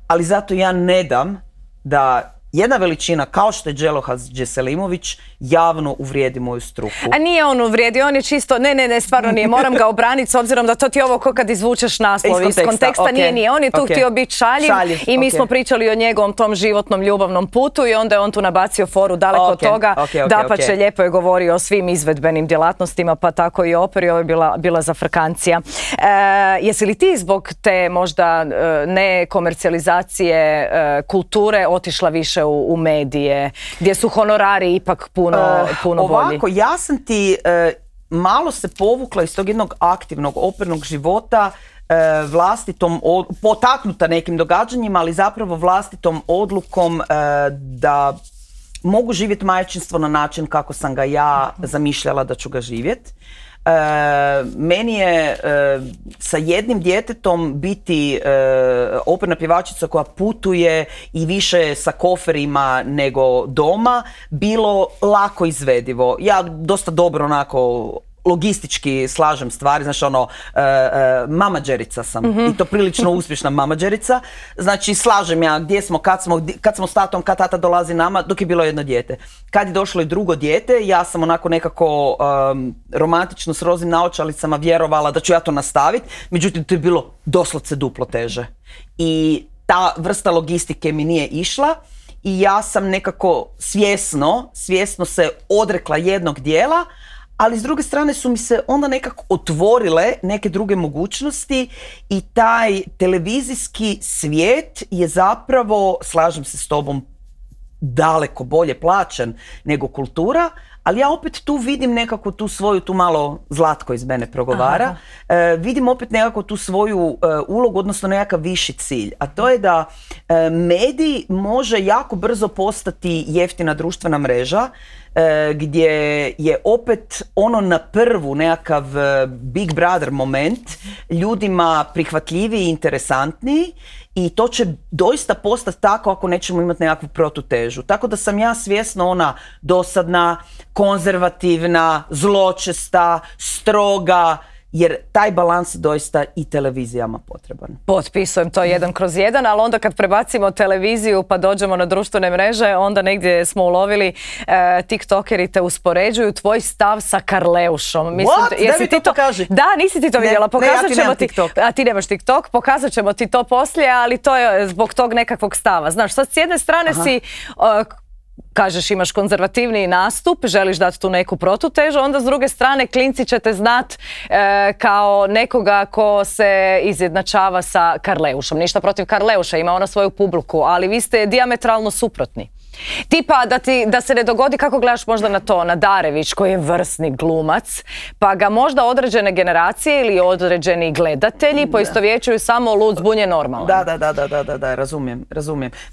ali zato ja ne dam da jedna veličina kao što je Dželohaz Džeselimović javno uvrijedi moju struku. A nije on uvrijedio, on je čisto, ne, stvarno nije, moram ga obraniti s obzirom da to ti je ovo ko kad izvučeš naslov iz konteksta, okay. nije, on je tu htio biti šaljiv i mi smo pričali o njegovom tom životnom ljubavnom putu i onda je on tu nabacio foru daleko od toga, dapače lijepo je govorio o svim izvedbenim djelatnostima, pa tako i operi, ovo je bila zafrkancija. Jesi li ti zbog te možda nekomercijalizacije kulture otišla više u medije, gdje su honorari ipak puno bolji? Ovako, ja sam ti malo se povukla iz tog jednog aktivnog opernog života, vlastitom, potaknuta nekim događanjima, ali zapravo vlastitom odlukom da mogu živjeti majčinstvo na način kako sam ga ja zamišljala da ću ga živjeti. Meni je sa jednim djetetom biti operna pjevačica koja putuje i više sa koferima nego doma bilo lako izvedivo. Ja dosta dobro onako logistički slažem stvari, znači mamađerica sam i to prilično uspješna mamađerica. Znači slažem ja gdje smo, kad smo s tatom, kad tata dolazi nama, dok je bilo jedno dijete. Kad je došlo i drugo dijete, ja sam onako nekako romantično s roznim naočalicama vjerovala da ću ja to nastaviti, međutim to je bilo doslovce duplo teže. I ta vrsta logistike mi nije išla i ja sam nekako svjesno se odrekla jednog dijela, ali s druge strane su mi se onda nekako otvorile neke druge mogućnosti i taj televizijski svijet je zapravo, slažem se s tobom, daleko bolje plaćen nego kultura, ali ja opet tu vidim nekako tu svoju, tu malo Zlatko iz mene progovara, vidim opet nekako tu svoju ulogu, odnosno nekakav viši cilj, a to je da medij može jako brzo postati jeftina društvena mreža, gdje je opet ono na prvu nekakav Big Brother moment ljudima prihvatljiviji i interesantniji i to će doista postati tako ako nećemo imati nekakvu protutežu. Tako da sam ja svjesno ona dosadna, konzervativna, zločesta, stroga, jer taj balans je doista i televizijama potreban. Potpisujem to 1/1, ali onda kad prebacimo televiziju pa dođemo na društvene mreže, onda negdje smo ulovili tiktokeri te uspoređuju tvoj stav sa Karleušom. What? Da mi to pokaži. Da, nisi ti to vidjela. Ja ti nemam TikTok. A ti nemaš TikTok, pokazat ćemo ti to poslije, ali to je zbog tog nekakvog stava. Znaš, sad s jedne strane si... kažeš imaš konzervativniji nastup, želiš dati tu neku protutežu, onda s druge strane klinci će te znat kao nekoga ko se izjednačava sa Karleušom. Ništa protiv Karleuša, ima ona svoju publiku, ali vi ste dijametralno suprotni. Tipa da se ne dogodi, kako gledaš možda na to, na Darević koji je vrsni glumac, pa ga možda određene generacije ili određeni gledatelji poistovjećuju samo lud, zbunjen, normalan. Da, razumijem.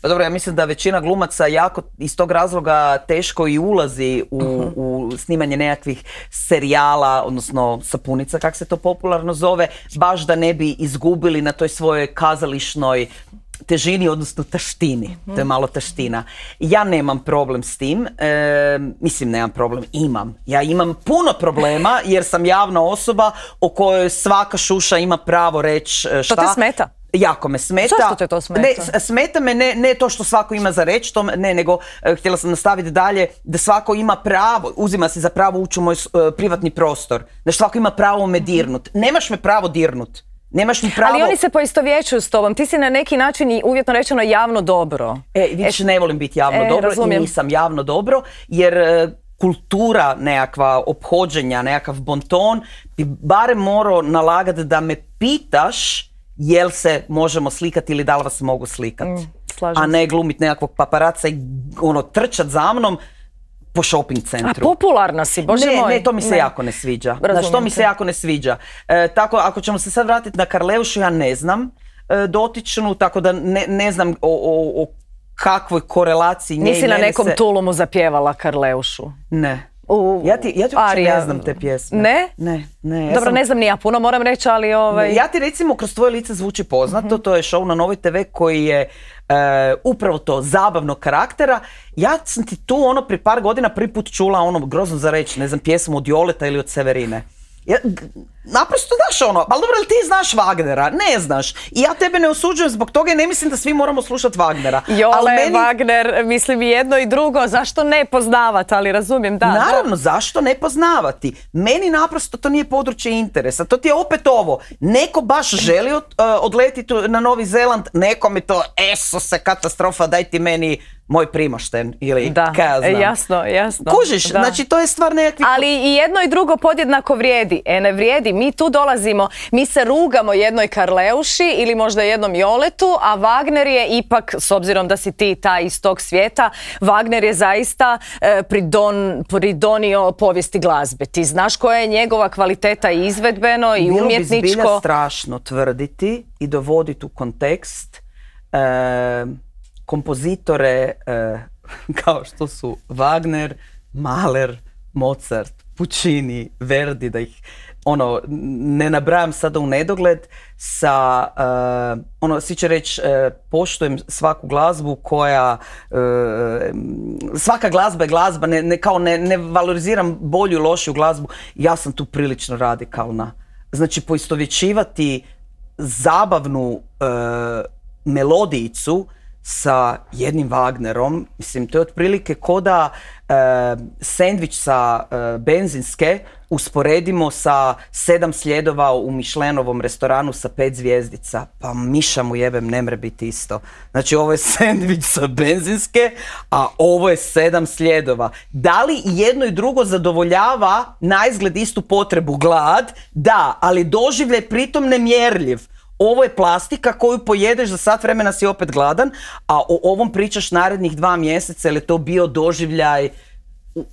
Pa dobro, ja mislim da većina glumaca jako iz tog razloga teško i ulazi u snimanje nekakvih serijala, odnosno sapunica, kak se to popularno zove, baš da ne bi izgubili na toj svojoj kazališnoj težini, odnosno taštini. To je malo taština. Ja nemam problem s tim. Mislim, nemam problem. Imam. Ja imam puno problema jer sam javna osoba o kojoj svaka šuša ima pravo reći šta. To te smeta? Jako me smeta. Zašto te to smeta? Ne, smeta me ne to što svako ima za reći, nego htjela sam nastaviti dalje da svako ima pravo, uzima se za pravo ući u moj privatni prostor. Da svako ima pravo me dirnut. Nemaš me pravo dirnut. Nemaš mi pravo... Ali oni se poistovjećuju s tobom. Ti si na neki način i uvjetno rečeno javno dobro. Vidiš, ne volim biti javno dobro. Razumijem. Nisam javno dobro, jer kultura nekakva ophođenja, nekakav bonton bi barem morao nalagati da me pitaš jel se možemo slikati ili da li vas mogu slikati. A ne glumiti nekakvog paparaca i trčat za mnom po shopping centru. A popularna si, bože moj. Ne, to mi se jako ne sviđa. Znaš, to mi se jako ne sviđa. Tako, ako ćemo se sad vratiti na Karleušu, ja ne znam dotičnu, tako da ne znam o kakvoj korelaciji nje i nisi na nekom tulumu zapjevala Karleušu? Ne. Ja ti uopće ne znam te pjesme. Ne? Ne. Dobro, ne znam ni ja puno, moram reći, ali... Ja ti recimo Kroz tvoje lice zvuči poznato, to je show na Novoj TV koji je upravo to, zabavnog karaktera. Ja sam ti tu prije par godina prvi put čula grozno za reći, ne znam, pjesmu od Joleta ili od Severine. naprosto daš ono, ali dobro, ali ti znaš Wagnera? Ne znaš. I ja tebe ne osuđujem zbog toga i ne mislim da svi moramo slušati Wagnera. Wagner, mislim i jedno i drugo, zašto ne poznavati, ali razumijem, da. Naravno, zašto ne poznavati? Meni naprosto to nije područje interesa. To ti je opet ovo. Neko baš želi odletiti na Novi Zeland, nekom je to, se katastrofa, daj ti meni moj primošten ili kaj ja znam. Jasno. Kužiš, znači to je stvar nekakvih... Ali i jedno i drugo podjednako vrijedi. Ne vrijedi, mi tu dolazimo, mi se rugamo jednoj Karleuši ili možda jednom Joletu, a Wagner je ipak, s obzirom da si ti ta iz tog svijeta, Wagner je zaista pridonio povijesti glazbe. Ti znaš koja je njegova kvaliteta i izvedbeno i umjetničko. Bilo bi zbilja strašno tvrditi i dovoditi u kontekst kompozitore kao što su Wagner, Mahler, Mozart, Puccini, Verdi, da ih ne nabrajam sada u nedogled, sa, svi će reći, poštujem svaku glazbu koja, svaka glazba je glazba, ne valoriziram bolju i lošiju glazbu, ja sam tu prilično radikalna. Znači, poistovjećivati zabavnu melodijicu sa jednim Wagnerom, mislim, to je otprilike ko da sendvič sa benzinske usporedimo sa 7 sljedova u Mišlenovom restoranu sa 5 zvjezdica. Pa miša mu jebem, ne mre biti isto. Znači, ovo je sendvič sa benzinske, a ovo je 7 sljedova. Da li jedno i drugo zadovoljava naizgled istu potrebu, glad? Da, ali doživljaj pritom nemjerljiv. Ovo je plastika koju pojedeš, za sat vremena si opet gladan, a o ovom pričaš narednih 2 mjeseca, jer je to bio doživljaj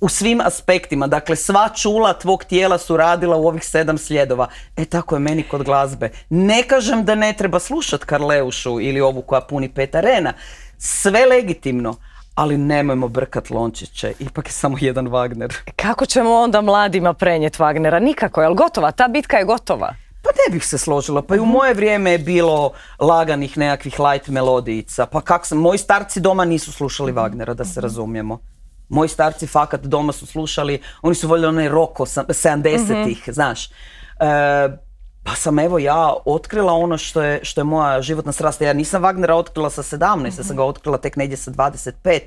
u svim aspektima. Dakle, sva čula tvog tijela su radila u ovih 7 sljedova. Tako je meni kod glazbe. Ne kažem da ne treba slušati Karleušu ili ovu koja puni 5 arena. Sve legitimno. Ali nemojmo brkat lončiće, ipak je samo jedan Wagner. Kako ćemo onda mladima prenijeti Wagnera? Nikako, je li gotova? Ta bitka je gotova. Pa ne bih se složila, pa i u moje vrijeme je bilo laganih nekakvih light melodijica. Pa moji starci doma nisu slušali Wagnera, da se razumijemo. Moji starci fakat doma su slušali, oni su voljeli onaj rock 70-ih, znaš. Pa sam evo ja otkrila ono što je moja životna strast. Ja nisam Wagnera otkrila sa 17, ja sam ga otkrila tek negdje sa 25.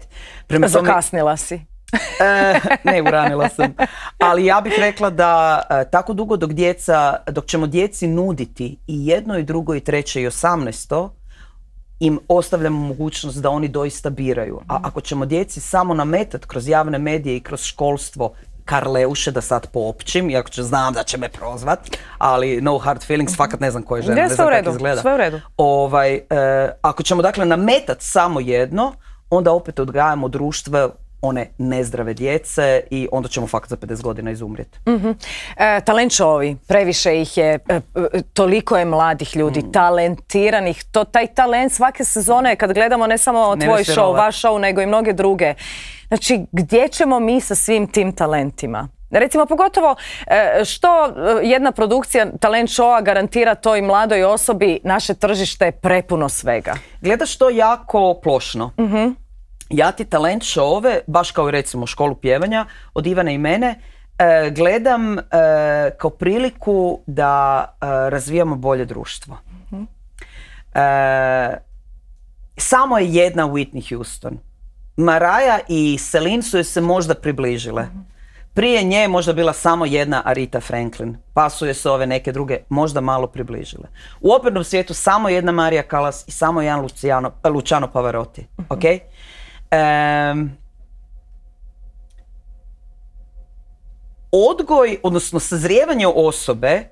Zakasnila si. Ne, uranila sam. Ali ja bih rekla da tako dugo dok ćemo djeci nuditi i jedno i drugo i treće i 18, im ostavljamo mogućnost da oni doista biraju. A ako ćemo djeci samo nametati kroz javne medije i kroz školstvo Karleuše, da sad poopćim, iako znam da će me prozvat, ali no hard feelings, fakat ne znam koje žene, ne znam kako izgleda. Sve u redu. Ako ćemo dakle nametati samo jedno, onda opet odgajamo društvo one nezdrave djece i onda ćemo fakat za 50 godina izumrijeti. Talent showovi, previše ih je, toliko je mladih ljudi, talentiranih. Taj talent svake sezone, kad gledamo ne samo tvoj show, vaš show, nego i mnoge druge. Znači, gdje ćemo mi sa svim tim talentima? Recimo, pogotovo što jedna produkcija talent showa garantira toj mladoj osobi, naše tržište je prepuno svega. Gledaš to jako plošno. Ja ti talent showove, baš kao i recimo školu pjevanja, od Ivane i mene, gledam kao priliku da razvijamo bolje društvo. Samo je jedna Whitney Houston. Mariah i Celine su joj se možda približile. Prije nje je možda bila samo jedna Aretha Franklin, pa su joj se ove neke druge možda malo približile. U opernom svijetu samo jedna Maria Callas i samo jedan Luciano Pavarotti. Okay? Odgoj, odnosno sazrijevanje osobe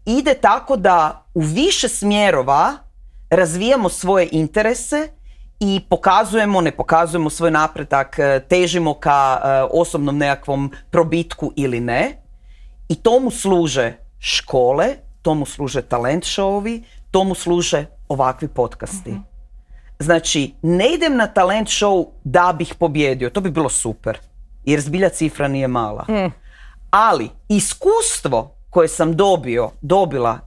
ide tako da u više smjerova razvijamo svoje interese i ne pokazujemo svoj napredak, težimo ka osobnom nekakvom probitku ili ne. I tomu služe škole, tomu služe talent showovi, tomu služe ovakvi podcasti. Znači, ne idem na talent show da bih pobjedio, to bi bilo super, jer zbilja cifra nije mala. Ali iskustvo koje sam dobila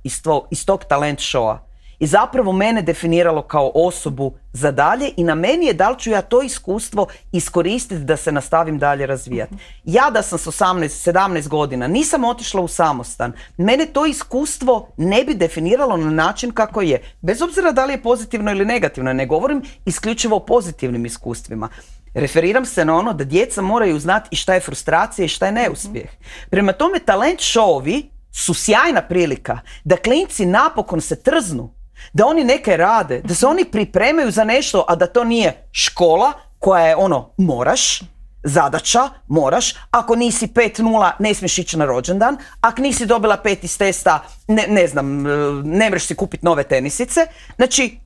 iz tog talent showa i zapravo mene definiralo kao osobu za dalje i na meni je da li ću ja to iskustvo iskoristiti da se nastavim dalje razvijati. Ja da sam s 18-17 godina nisam otišla u samostan, mene to iskustvo ne bi definiralo na način kako je. Bez obzira da li je pozitivno ili negativno, ne govorim isključivo o pozitivnim iskustvima. Referiram se na ono da djeca moraju znati i šta je frustracija i šta je neuspjeh. Prema tome, talent showovi su sjajna prilika da klinci napokon se trznu, da oni neke rade, da se oni pripremaju za nešto, a da to nije škola koja je moraš, zadaća, moraš, ako nisi 5.0 ne smiješ ići na rođendan, ako nisi dobila 5 iz testa, ne znam, ne možeš si kupiti nove tenisice. Znači,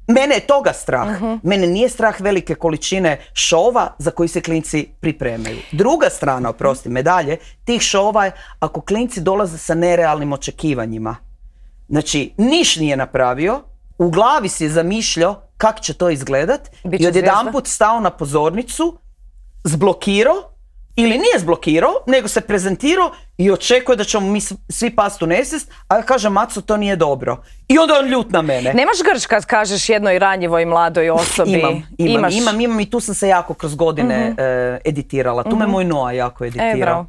mene je toga strah. Mene nije strah velike količine šova za koji se klinci pripremaju. Druga strana, oprosti, medalje tih šova je ako klinci dolaze sa nerealnim očekivanjima. Znači, niš nije napravio, u glavi si je zamišljao kako će to izgledat i odjedanput stao na pozornicu, zblokirao ili nije zblokirao, nego se prezentirao i očekuje da ćemo mi svi past u nesvijest, a ja kažem, Maco, to nije dobro. I onda on ljut na mene. Nemaš grč kad kažeš jednoj ranjivoj mladoj osobi? Imam i tu sam se jako kroz godine editirala. Tu me moj Noa jako editirao.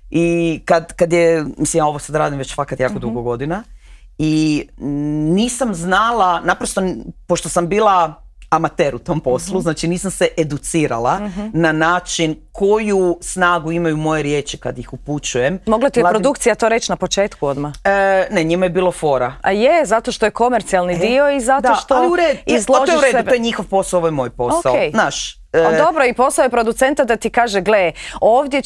I kad je, mislim, ja ovo sad radim već fakat jako dugo godina, i nisam znala, naprosto, pošto sam bila amater u tom poslu, znači nisam se educirala na način koju snagu imaju moje riječi kad ih upućujem. Mogla ti je produkcija to reći na početku odmah? Ne, njima je bilo fora. A je, zato što je komercijalni dio i zato što izložiš sebe. sebe. To je njihov posao, ovo je moj posao. Znaš, dobro, i posao je producenta da ti kaže, gle, ovdje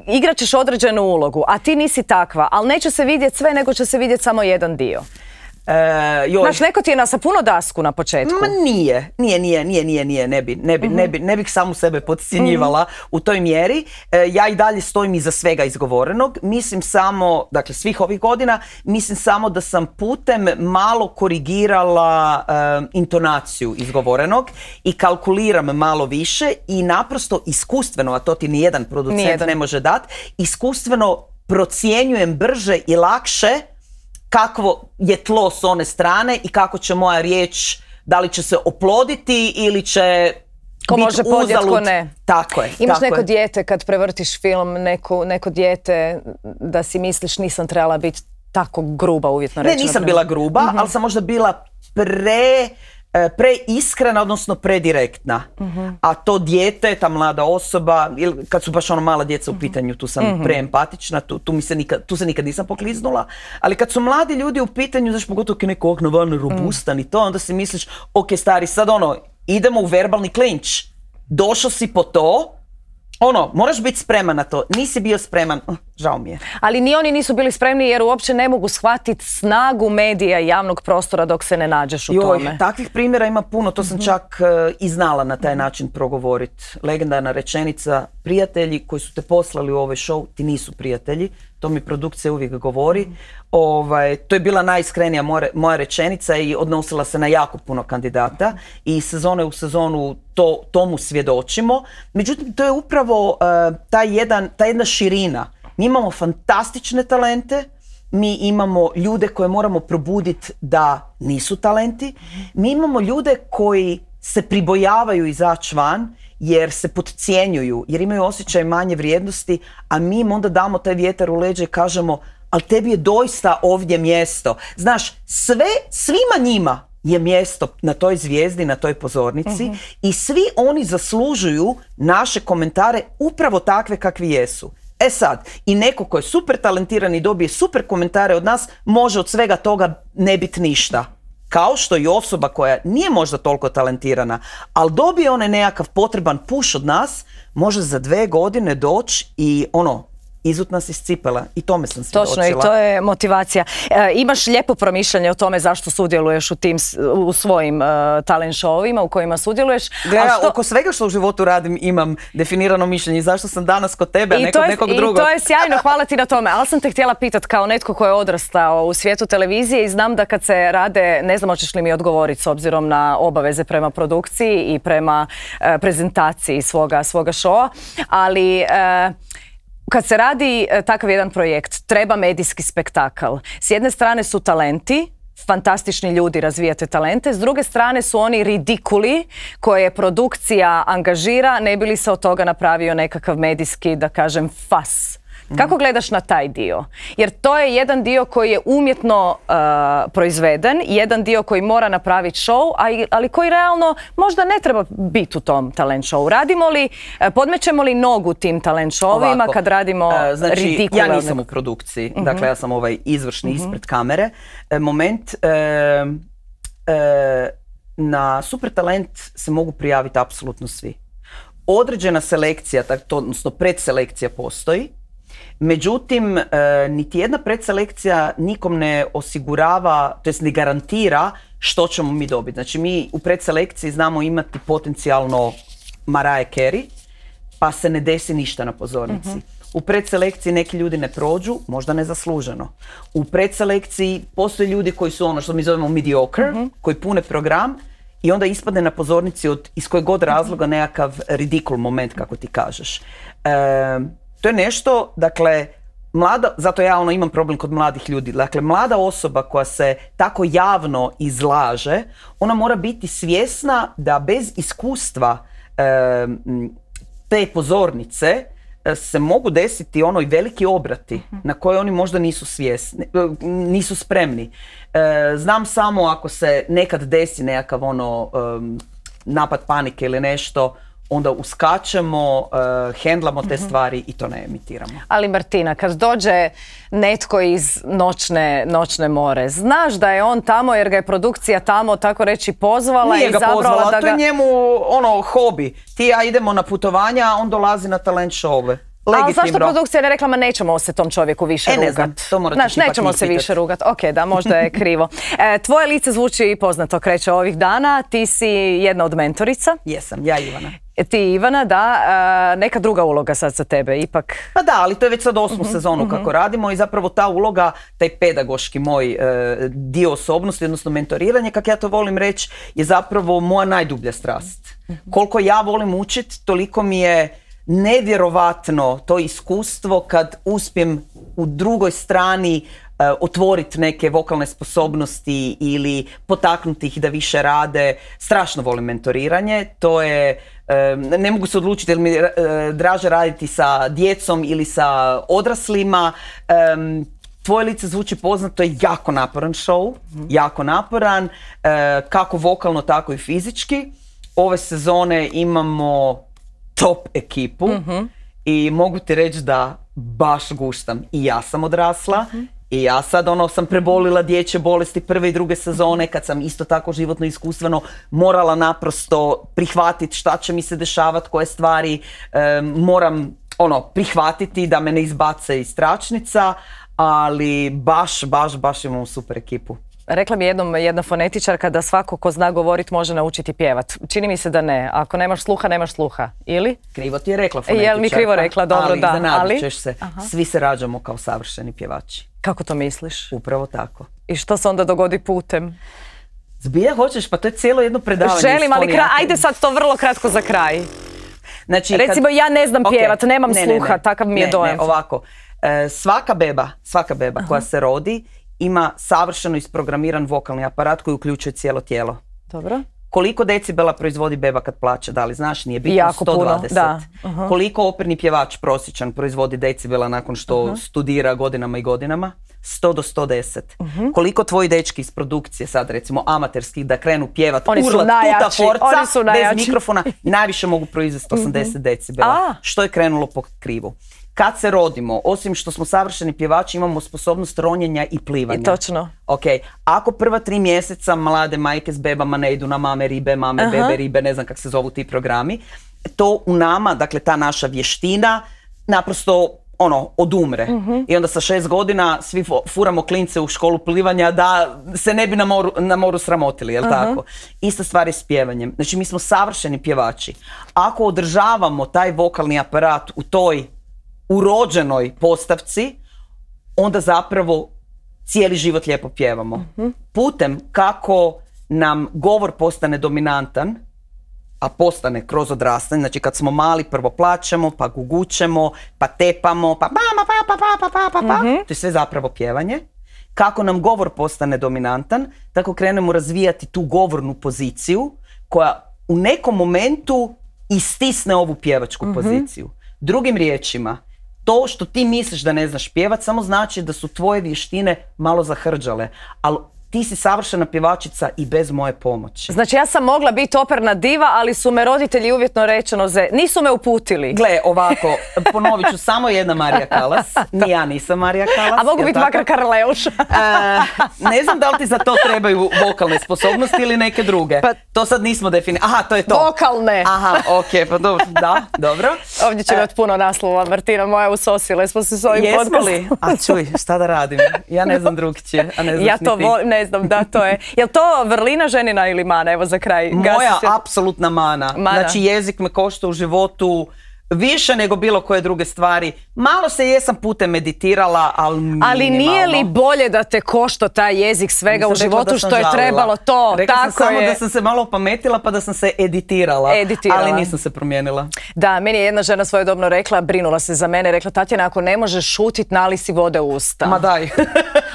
igrat ćeš određenu ulogu, a ti nisi takva, ali neće se vidjeti sve, nego će se vidjeti samo jedan dio. Znaš, neko ti je na puno dasku na početku. Ma nije, ne bih samu sebe podcjenjivala u toj mjeri. Ja i dalje stojim iza svega izgovorenog. Mislim samo, dakle svih ovih godina, mislim samo da sam putem malo korigirala intonaciju izgovorenog i kalkuliram malo više i naprosto iskustveno, a to ti nijedan producent ne može dati, iskustveno procjenjujem brže i lakše kakvo je tlo s one strane i kako će moja riječ, da li će se oploditi ili će ko može podnijet, ko ne. Tako je. Imaš neko dijete kad prevrtiš film, neko dijete da si misliš nisam trebala biti tako gruba, uvjetno rečeno? Ne, nisam bila gruba, ali sam možda bila preiskrena, odnosno predirektna. A to dijete, ta mlada osoba, kad su baš mala djeca u pitanju, tu sam preempatična, tu se nikad nisam pokliznula, ali kad su mladi ljudi u pitanju, znaš, pogotovo kad neko okno robustan i to, onda si misliš, ok, stari, sad idemo u verbalni klinč. Došao si po to, moraš biti spreman na to. Nisi bio spreman, žao mi je. Ali ni oni nisu bili spremni jer uopće ne mogu shvatiti snagu medija i javnog prostora dok se ne nađeš u tome. Takvih primjera ima puno, to sam čak i znala na taj način progovoriti. Legendarna rečenica, prijatelji koji su te poslali u ovaj show, ti nisu prijatelji. To mi produkcija uvijek govori. To je bila najiskrenija moja rečenica i odnosila se na jako puno kandidata i sezone u sezonu tomu svjedočimo. Međutim, to je upravo ta jedna širina. Mi imamo fantastične talente, mi imamo ljude koje moramo probuditi da nisu talenti, mi imamo ljude koji se pribojavaju izaći van jer se podcjenjuju, jer imaju osjećaj manje vrijednosti, a mi im onda damo taj vjetar u leđe i kažemo, ali tebi je doista ovdje mjesto. Znaš, svima njima je mjesto na toj zvijezdi, na toj pozornici i svi oni zaslužuju naše komentare upravo takve kakvi jesu. E sad, i neko ko je super talentiran i dobije super komentare od nas, može od svega toga ne biti ništa. Kao što i osoba koja nije možda toliko talentirana, ali dobije onaj nekakav potreban push od nas, može za 2 godine doći i izut nas iz cipela. I tome sam svjedočila. Točno, i to je motivacija. Imaš lijepo promišljanje o tome zašto sudjeluješ u svojim talent showovima u kojima sudjeluješ. Oko svega što u životu radim imam definirano mišljenje. Zašto sam danas kod tebe, a ne kod nekog drugog? I to je sjajno, hvala ti na tome. Ali sam te htjela pitati kao netko ko je odrastao u svijetu televizije i znam da kad se rade, ne znam hoćeš li mi odgovoriti s obzirom na obaveze prema produkciji i prema prezentaciji svoga showa, ali kad se radi takav jedan projekt, treba medijski spektakl. S jedne strane su talenti fantastični ljudi razvijate talente, s druge strane su oni ridikuli koje produkcija angažira, ne bi li se od toga napravio nekakav medijski, da kažem, fas. Kako gledaš na taj dio? Jer to je jedan dio koji je umjetno proizveden, jedan dio koji mora napraviti show, ali koji realno možda ne treba biti u tom talent showu. Radimo li, podmećemo li nogu tim talent showima kad radimo ridikule? Ja nisam u produkciji, dakle ja sam ovaj izvršni ispred kamere. Moment, na Super talent se mogu prijaviti apsolutno svi. Određena selekcija, odnosno predselekcija postoji. Međutim, niti jedna predselekcija nikom ne osigurava, to jest ne garantira što ćemo mi dobiti. Znači mi u predselekciji znamo imati potencijalno Mariah Carey, pa se ne desi ništa na pozornici. U predselekciji neki ljudi ne prođu, možda nezasluženo. U predselekciji postoje ljudi koji su ono što mi zovemo mediocre, koji pune program i onda ispadne na pozornici iz kojeg god razloga nekakav ridikul moment, kako ti kažeš. To je nešto, dakle, zato ja imam problem kod mladih ljudi. Dakle, mlada osoba koja se tako javno izlaže, ona mora biti svjesna da bez iskustva te pozornice se mogu desiti i veliki obrati na koje oni možda nisu spremni. Znam samo ako se nekad desi nekakav napad panike ili nešto, onda uskačemo, hendlamo te stvari i to ne emitiramo. Ali Martina, kad dođe netko iz noćne more, znaš da je on tamo jer ga je produkcija tamo, tako reći, pozvala i zabrala da ga... To je njemu hobi. Ti ja idemo na putovanja, on dolazi na talent show-ove. Ali zašto produkcija ne rekla, ma nećemo se tom čovjeku više rugat? Ne znam, to morate ti nećemo se više rugat. Ok, da, možda je krivo. Tvoje lice zvuči poznato, kreće ovih dana. Ti si jedna od mentorica. Jesam, ja Ivana. Ti Ivana, da. Neka druga uloga sad za tebe, ipak. Pa da, ali to je već sad 8. sezonu kako radimo i zapravo ta uloga, taj pedagoški moj dio osobnosti, odnosno mentoriranje, kako ja to volim reći, je zapravo moja najdublja strast. Koliko ja volim učiti, toliko mi je nevjerovatno to iskustvo kad uspijem u drugoj strani otvoriti neke vokalne sposobnosti ili potaknuti ih da više rade. Strašno volim mentoriranje. To je, ne mogu se odlučiti jer mi draže raditi sa djecom ili sa odraslima. Tvoje lice zvuči poznato, je jako naporan show, jako naporan, kako vokalno, tako i fizički. Ove sezone imamo top ekipu i mogu ti reći da baš guštam. I ja sam odrasla i ja sad sam prebolila dječje bolesti prve i druge sezone kad sam isto tako životno iskustveno morala naprosto prihvatiti šta će mi se dešavati, koje stvari moram prihvatiti da me ne izbace iz tračnica, ali baš imamo super ekipu. Rekla mi jedna fonetičarka da svako ko zna govorit može naučiti pjevat. Čini mi se da ne. Ako nemaš sluha, nemaš sluha. Ili? Krivo ti je rekla fonetičarka. Jel mi krivo rekla? Dobro, ali da. Zanadit ćeš se. Svi se rađamo kao savršeni pjevači. Kako to misliš? Upravo tako. I što se onda dogodi putem? Zbilja hoćeš? Pa to je cijelo jedno predavanje. Želim, ali ajde sad to vrlo kratko za kraj. Znači, recimo ja ne znam pjevat, nemam sluha, takav mi je dojam. Ovako. Svaka beba koja se rodi ima savršeno isprogramiran vokalni aparat koji uključuje cijelo tijelo. Dobro. Koliko decibela proizvodi beba kad plače? Da li znaš? Nije bitno. Jako 120. Puno, da. Koliko operni pjevač prosječan proizvodi decibela nakon što studira godinama i godinama? 100 do 110. Koliko tvoji dečki iz produkcije, sad recimo amaterski, da krenu pjevat urlat tuta forca bez mikrofona, najviše mogu proizvesti 80 decibela. Što je krenulo po krivu? Kad se rodimo, osim što smo savršeni pjevači, imamo sposobnost ronjenja i plivanja. I točno. Okay. Ako prva 3 mjeseca mlade majke s bebama ne idu na mame ribe, bebe ribe, ne znam kako se zovu ti programi, to u nama, dakle ta naša vještina, naprosto odumre. I onda sa 6 godina svi furamo klince u školu plivanja da se ne bi na moru sramotili, jel tako? Ista stvar je s pjevanjem. Znači mi smo savršeni pjevači. Ako održavamo taj vokalni aparat u toj urođenoj postavci, onda zapravo cijeli život lijepo pjevamo. Putem kako nam govor postane dominantan, a postane kroz odrastanje, znači kad smo mali prvo plačemo, pa gugućemo, pa tepamo, pa mama, pa, to je sve zapravo pjevanje. kako nam govor postane dominantan, tako krenemo razvijati tu govornu poziciju koja u nekom momentu istisne ovu pjevačku poziciju. Drugim riječima, to što ti misliš da ne znaš pjevat samo znači da su tvoje vještine malo zahrđale, ali ti si savršena pjevačica i bez moje pomoći. Znači ja sam mogla biti operna diva, ali su me roditelji uvjetno rečeno nisu me uputili. Gle, ovako, ponovit ću, samo jedna Marija Kalas. Ni ja nisam Marija Kalas. A mogu biti makar Karleuša. Ne znam da li ti za to trebaju vokalne sposobnosti ili neke druge. Pa, to sad nismo definirali. Aha, to je to. Vokalne. Aha, okej, pa dobro. Da, dobro. Ovdje će imati puno naslova, Martina moja, usosile smo se s ovim podcastom. Jesmo li? A čuj, šta da radim? Ja ne znam drugčije, a ne znaš ja to ne znam, da, to je. Jel to vrlina ženina ili mana? Evo za kraj. Moja apsolutna mana. Znači jezik me košta u životu više nego bilo koje druge stvari. Malo se jesam putem meditirala, ali minimalno. Ali nije li bolje da te košta taj jezik svega u životu što je trebalo to? Rekla sam samo da sam se malo opametila pa da sam se editirala. Ali nisam se promijenila. Da, meni je jedna žena svojedobno rekla, brinula se za mene, rekla Tatjana, ako ne možeš šutit, nali si vode u usta. Ma daj.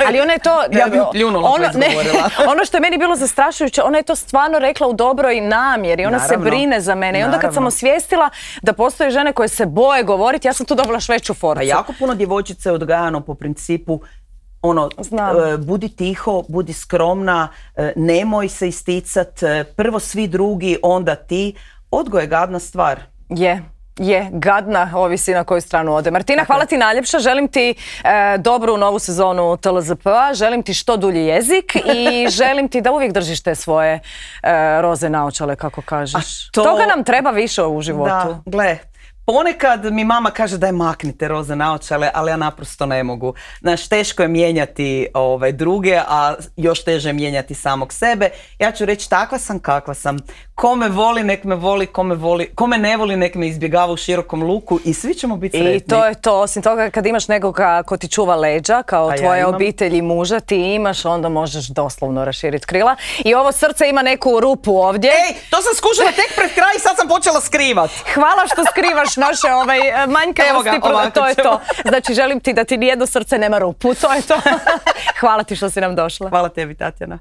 Ali ona je to... Ja bi pljunula to izgovorila. Ono što je meni bilo zastrašujuće, ona je to stvarno rekla u dobroj namjeri. Ona se brine za mene. I onda kad sam osvijestila da postoje žene koje se boje govoriti, ja sam tu dobila šveću forcu. A jako puno djevojčice je odgajano po principu budi tiho, budi skromna, nemoj se isticat, prvo svi drugi, onda ti. Odgoj je gadna stvar. Je, gadna, ovisi na koju stranu ode. Martina, hvala ti najljepša, želim ti dobru novu sezonu TLZP-a, želim ti što dulji jezik i želim ti da uvijek držiš te svoje roze naočale, kako kažeš. Toga nam treba više u životu. Da, gle. Ponekad mi mama kaže daj maknite roze naočale, ali ja naprosto ne mogu. Znaš, teško je mijenjati druge, a još teže je mijenjati samog sebe. Ja ću reći takva sam kakva sam. Ko me voli, nek me voli, ko me ne voli, nek me izbjegava u širokom luku i svi ćemo biti sretni. I to je to. Osim toga, kad imaš nekoga ko ti čuva leđa, kao tvoja obitelj i muža, ti imaš, onda možeš doslovno raširiti krila. I ovo srce ima neku rupu ovdje. Ej, to sam skušala tek pred kraj i sad sam počela skrivat. Hvala što skrivaš naše manjkavosti. To je to. Znači, želim ti da ti nijedno srce nema rupu. To je to. Hvala ti što si nam došla. Hvala tebi, Tatjana.